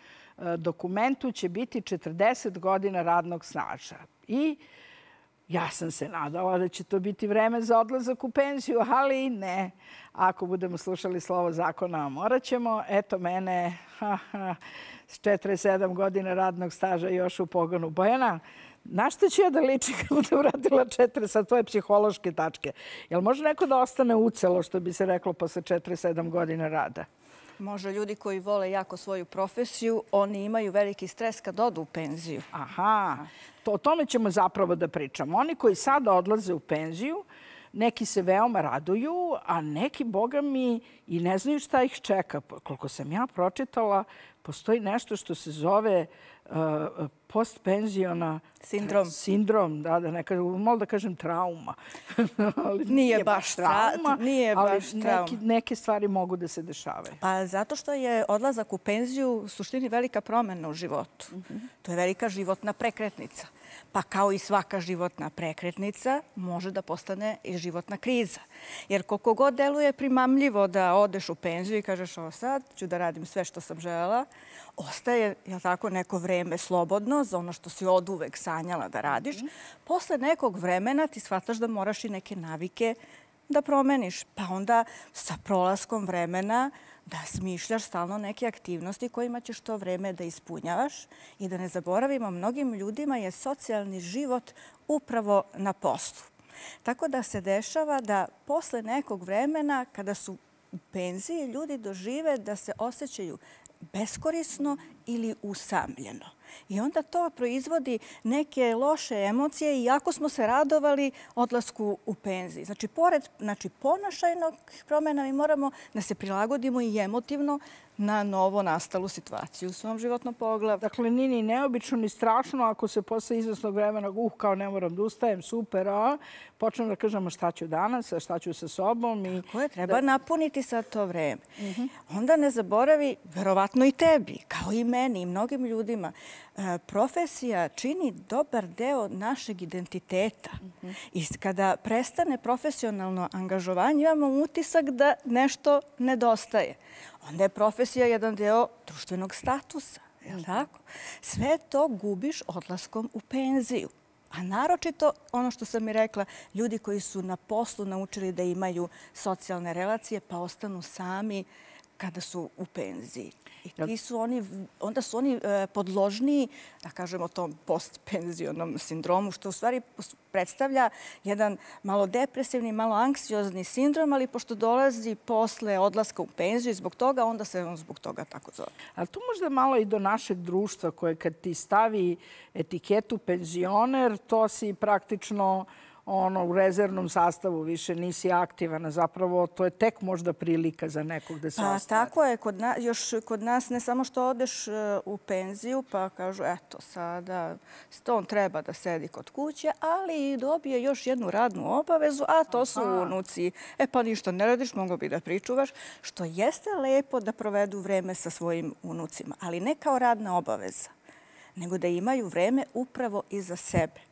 dokumentu će biti 40 godina radnog staža. I ja sam se nadala da će to biti vreme za odlazak u penziju, ali ne. Ako budemo slušali slovo zakona, morat ćemo. Eto mene s 47 godina radnog staža još u pogonu. Bojana, na što ću ja da ličim kad budem radila 4 sa tvoje psihološke tačke? Jel može neko da ostane ucelo, što bi se reklo, posle 47 godina rada? Može, ljudi koji vole jako svoju profesiju, oni imaju veliki stres kad odu u penziju. Aha, o tome ćemo zapravo da pričamo. Oni koji sada odlaze u penziju, neki se veoma raduju, a neki, boga mi, i ne znaju šta ih čeka. Koliko sam ja pročitala, postoji nešto što se zove postpenziona sindrom, da ne kažem, malo da kažem trauma. Nije baš trauma, ali neke stvari mogu da se dešavaju. Pa zato što je odlazak u penziju u suštini velika promena u životu. To je velika životna prekretnica. Pa kao i svaka životna prekretnica može da postane i životna kriza. Jer koliko god deluje primamljivo da odeš u penziju i kažeš ovo sad ću da radim sve što sam želela, ostaje tako, neko vreme slobodno za ono što si oduvek sanjala da radiš. Posle nekog vremena ti shvataš da moraš i neke navike da promeniš. Pa onda sa prolaskom vremena da smišljaš stalno neke aktivnosti kojima ćeš to vreme da ispunjavaš. I da ne zaboravimo, mnogim ljudima je socijalni život upravo na poslu. Tako da se dešava da posle nekog vremena, kada su u penziji, ljudi dožive da se osjećaju beskorisno ili usamljeno. I onda to proizvodi neke loše emocije, iako smo se radovali odlasku u penziji. Znači, pored ponašajnog promjena, mi moramo da se prilagodimo i emotivno na novo nastalu situaciju u svom životnom pogledu. Dakle, nije ni neobično ni strašno ako se posle izvesnog vremena, kao ne moram da ustajem, super, počnem da kažem šta ću danas, šta ću sa sobom. Koje treba napuniti sad to vreme. Onda ne zaboravi, verovatno i tebi, kao i meni i mnogim ljudima, profesija čini dobar deo našeg identiteta. I kada prestane profesionalno angažovanje, imamo utisak da nešto nedostaje. Onda je profesija jedan deo društvenog statusa. Sve to gubiš odlaskom u penziju. A naročito, ono što sam i rekla, ljudi koji su na poslu naučili da imaju socijalne relacije pa ostanu sami kada su u penziji. I onda su oni podložniji, da kažemo, tom postpenzionom sindromu, što u stvari predstavlja jedan malo depresivni, malo anksiozni sindrom, ali pošto dolazi posle odlaska u penziju i zbog toga, onda se on zbog toga tako zove. Ali tu možda malo i do našeg društva koje kad ti stavi etiketu penzioner, to si praktično u rezervnom sastavu, više nisi aktivan. Zapravo, to je tek možda prilika za nekog da se ostvari. Tako je. Još kod nas ne samo što odeš u penziju, pa kažu, eto, sada on treba da sedi kod kuće, ali i dobije još jednu radnu obavezu, a to su unuci. Pa ništa ne radiš, mogo bi da pričuvaš, što jeste lepo da provedu vreme sa svojim unucima, ali ne kao radna obaveza, nego da imaju vreme upravo i za sebe.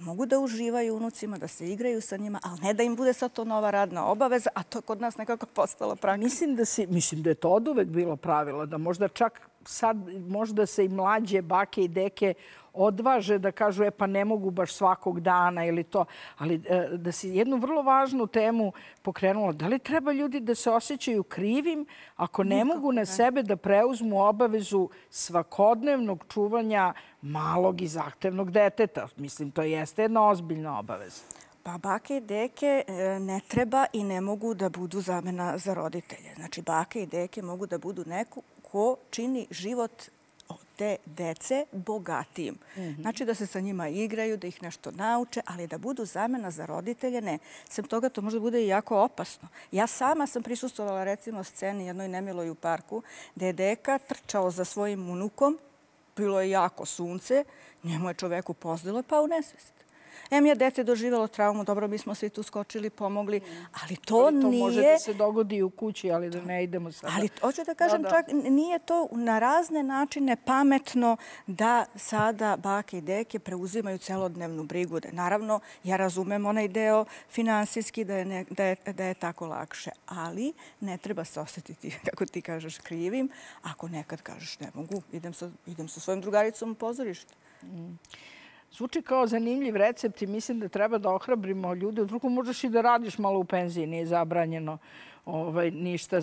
Mogu da uživaju unucima, da se igraju sa njima, ali ne da im bude sad to nova radna obaveza, a to je kod nas nekako postalo praksa. Mislim da je to oduvek bilo pravilo, da možda čak sad možda se i mlađe bake i deke odvaže da kažu pa ne mogu baš svakog dana ili to. Ali da si jednu vrlo važnu temu pokrenula. Da li treba ljudi da se osjećaju krivim ako ne mogu na sebe da preuzmu obavezu svakodnevnog čuvanja malog i zahtevnog deteta? Mislim, to jeste jedna ozbiljna obaveza. Pa bake i deke ne treba i ne mogu da budu zamena za roditelje. Znači, bake i deke mogu da budu neko ko čini život te dece bogatijim. Znači da se sa njima igraju, da ih nešto nauče, ali da budu zamena za roditelje, ne. Sem toga to možda bude i jako opasno. Ja sama sam prisustvovala recimo sceni jednoj nemiloj u parku, gde je deka trčao za svojim unukom, bilo je jako sunce, njemu je čoveku pozdilo pa u nesvest. Je dete doživjelo traumu, dobro, mi smo svi tu skočili, pomogli, ali to nije... To može da se dogodi u kući, ali da ne idemo sada. Ali hoću da kažem, čak nije to na razne načine pametno da sada bake i deke preuzimaju celodnevnu brigu. Naravno, ja razumem onaj deo finansijski da je tako lakše, ali ne treba se osjetiti, kako ti kažeš, krivim, ako nekad kažeš ne mogu, idem sa svojim drugaricom u pozorište. Zvuči kao zanimljiv recept i mislim da treba da ohrabrimo ljude. Drugo, možeš i da radiš malo u penziji, nije zabranjeno.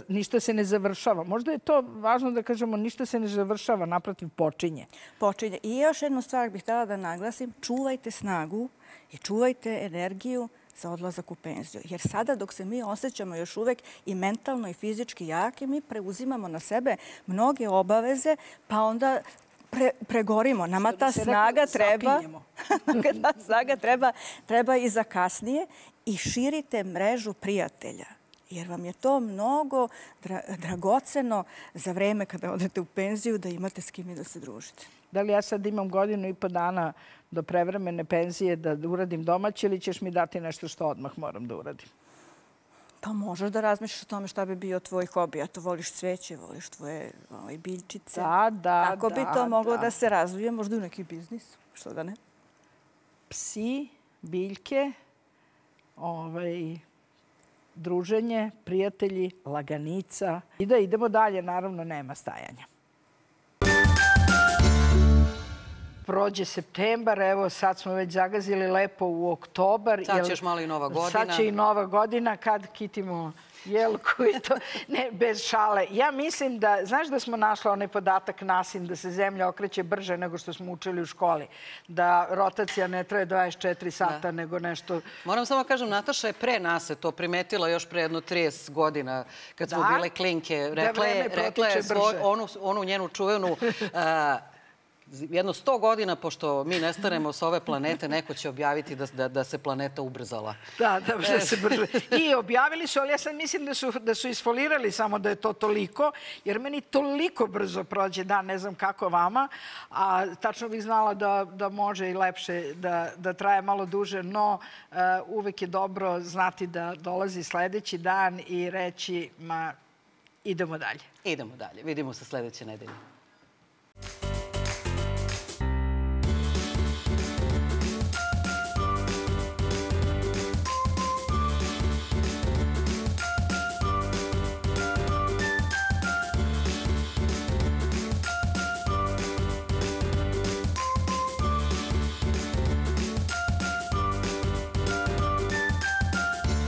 Ništa se ne završava. Možda je to važno da kažemo, ništa se ne završava, naprotiv počinje. Počinje. I još jednu stvar bih htjela da naglasim, čuvajte snagu i čuvajte energiju za odlazak u penziju. Jer sada dok se mi osjećamo još uvek i mentalno i fizički jaki, mi preuzimamo na sebe mnoge obaveze, pa onda pregorimo. Nama ta snaga treba i za kasnije i širite mrežu prijatelja. Jer vam je to mnogo dragoceno za vreme kada odete u penziju da imate s kim i da se družite. Da li ja sad imam 1,5 dana do prevremene penzije da uradim domaće ili ćeš mi dati nešto što odmah moram da uradim? Pa možeš da razmišljaš o tome šta bi bio tvoj hobi. A to voliš cveće, voliš tvoje biljčice. Da. Kako bi to moglo da se razvije? Možda u neki biznis. Što da ne? Psi, biljke, druženje, prijatelji, laganica. I da idemo dalje, naravno nema stajanja. Prođe septembar, evo sad smo već zagazili lepo u oktobar. Sad će još malo i Nova godina. Sad će i Nova godina kad kitimo jelku i to. Ne, bez šale. Ja mislim da, znaš da smo našli onaj podatak NASIN da se zemlja okreće brže nego što smo učili u školi. Da rotacija ne traje 24 sata nego nešto... Moram samo kažem, Nataša je pre nas to primetila još pre jedno 30 godina kad smo bile klinke. Rekla je onu njenu čuvenu... Jedno 100 godina, pošto mi nestanemo s ove planete, neko će objaviti da se planeta ubrzala. Da se brže. I objavili su, ali ja sad mislim da su isfolirali samo da je to toliko, jer meni toliko brzo prođe dan, ne znam kako vama, a tačno bih znala da može i lepše, da traje malo duže, no uvek je dobro znati da dolazi sledeći dan i reći, idemo dalje. Idemo dalje. Vidimo se sledeće nedelje.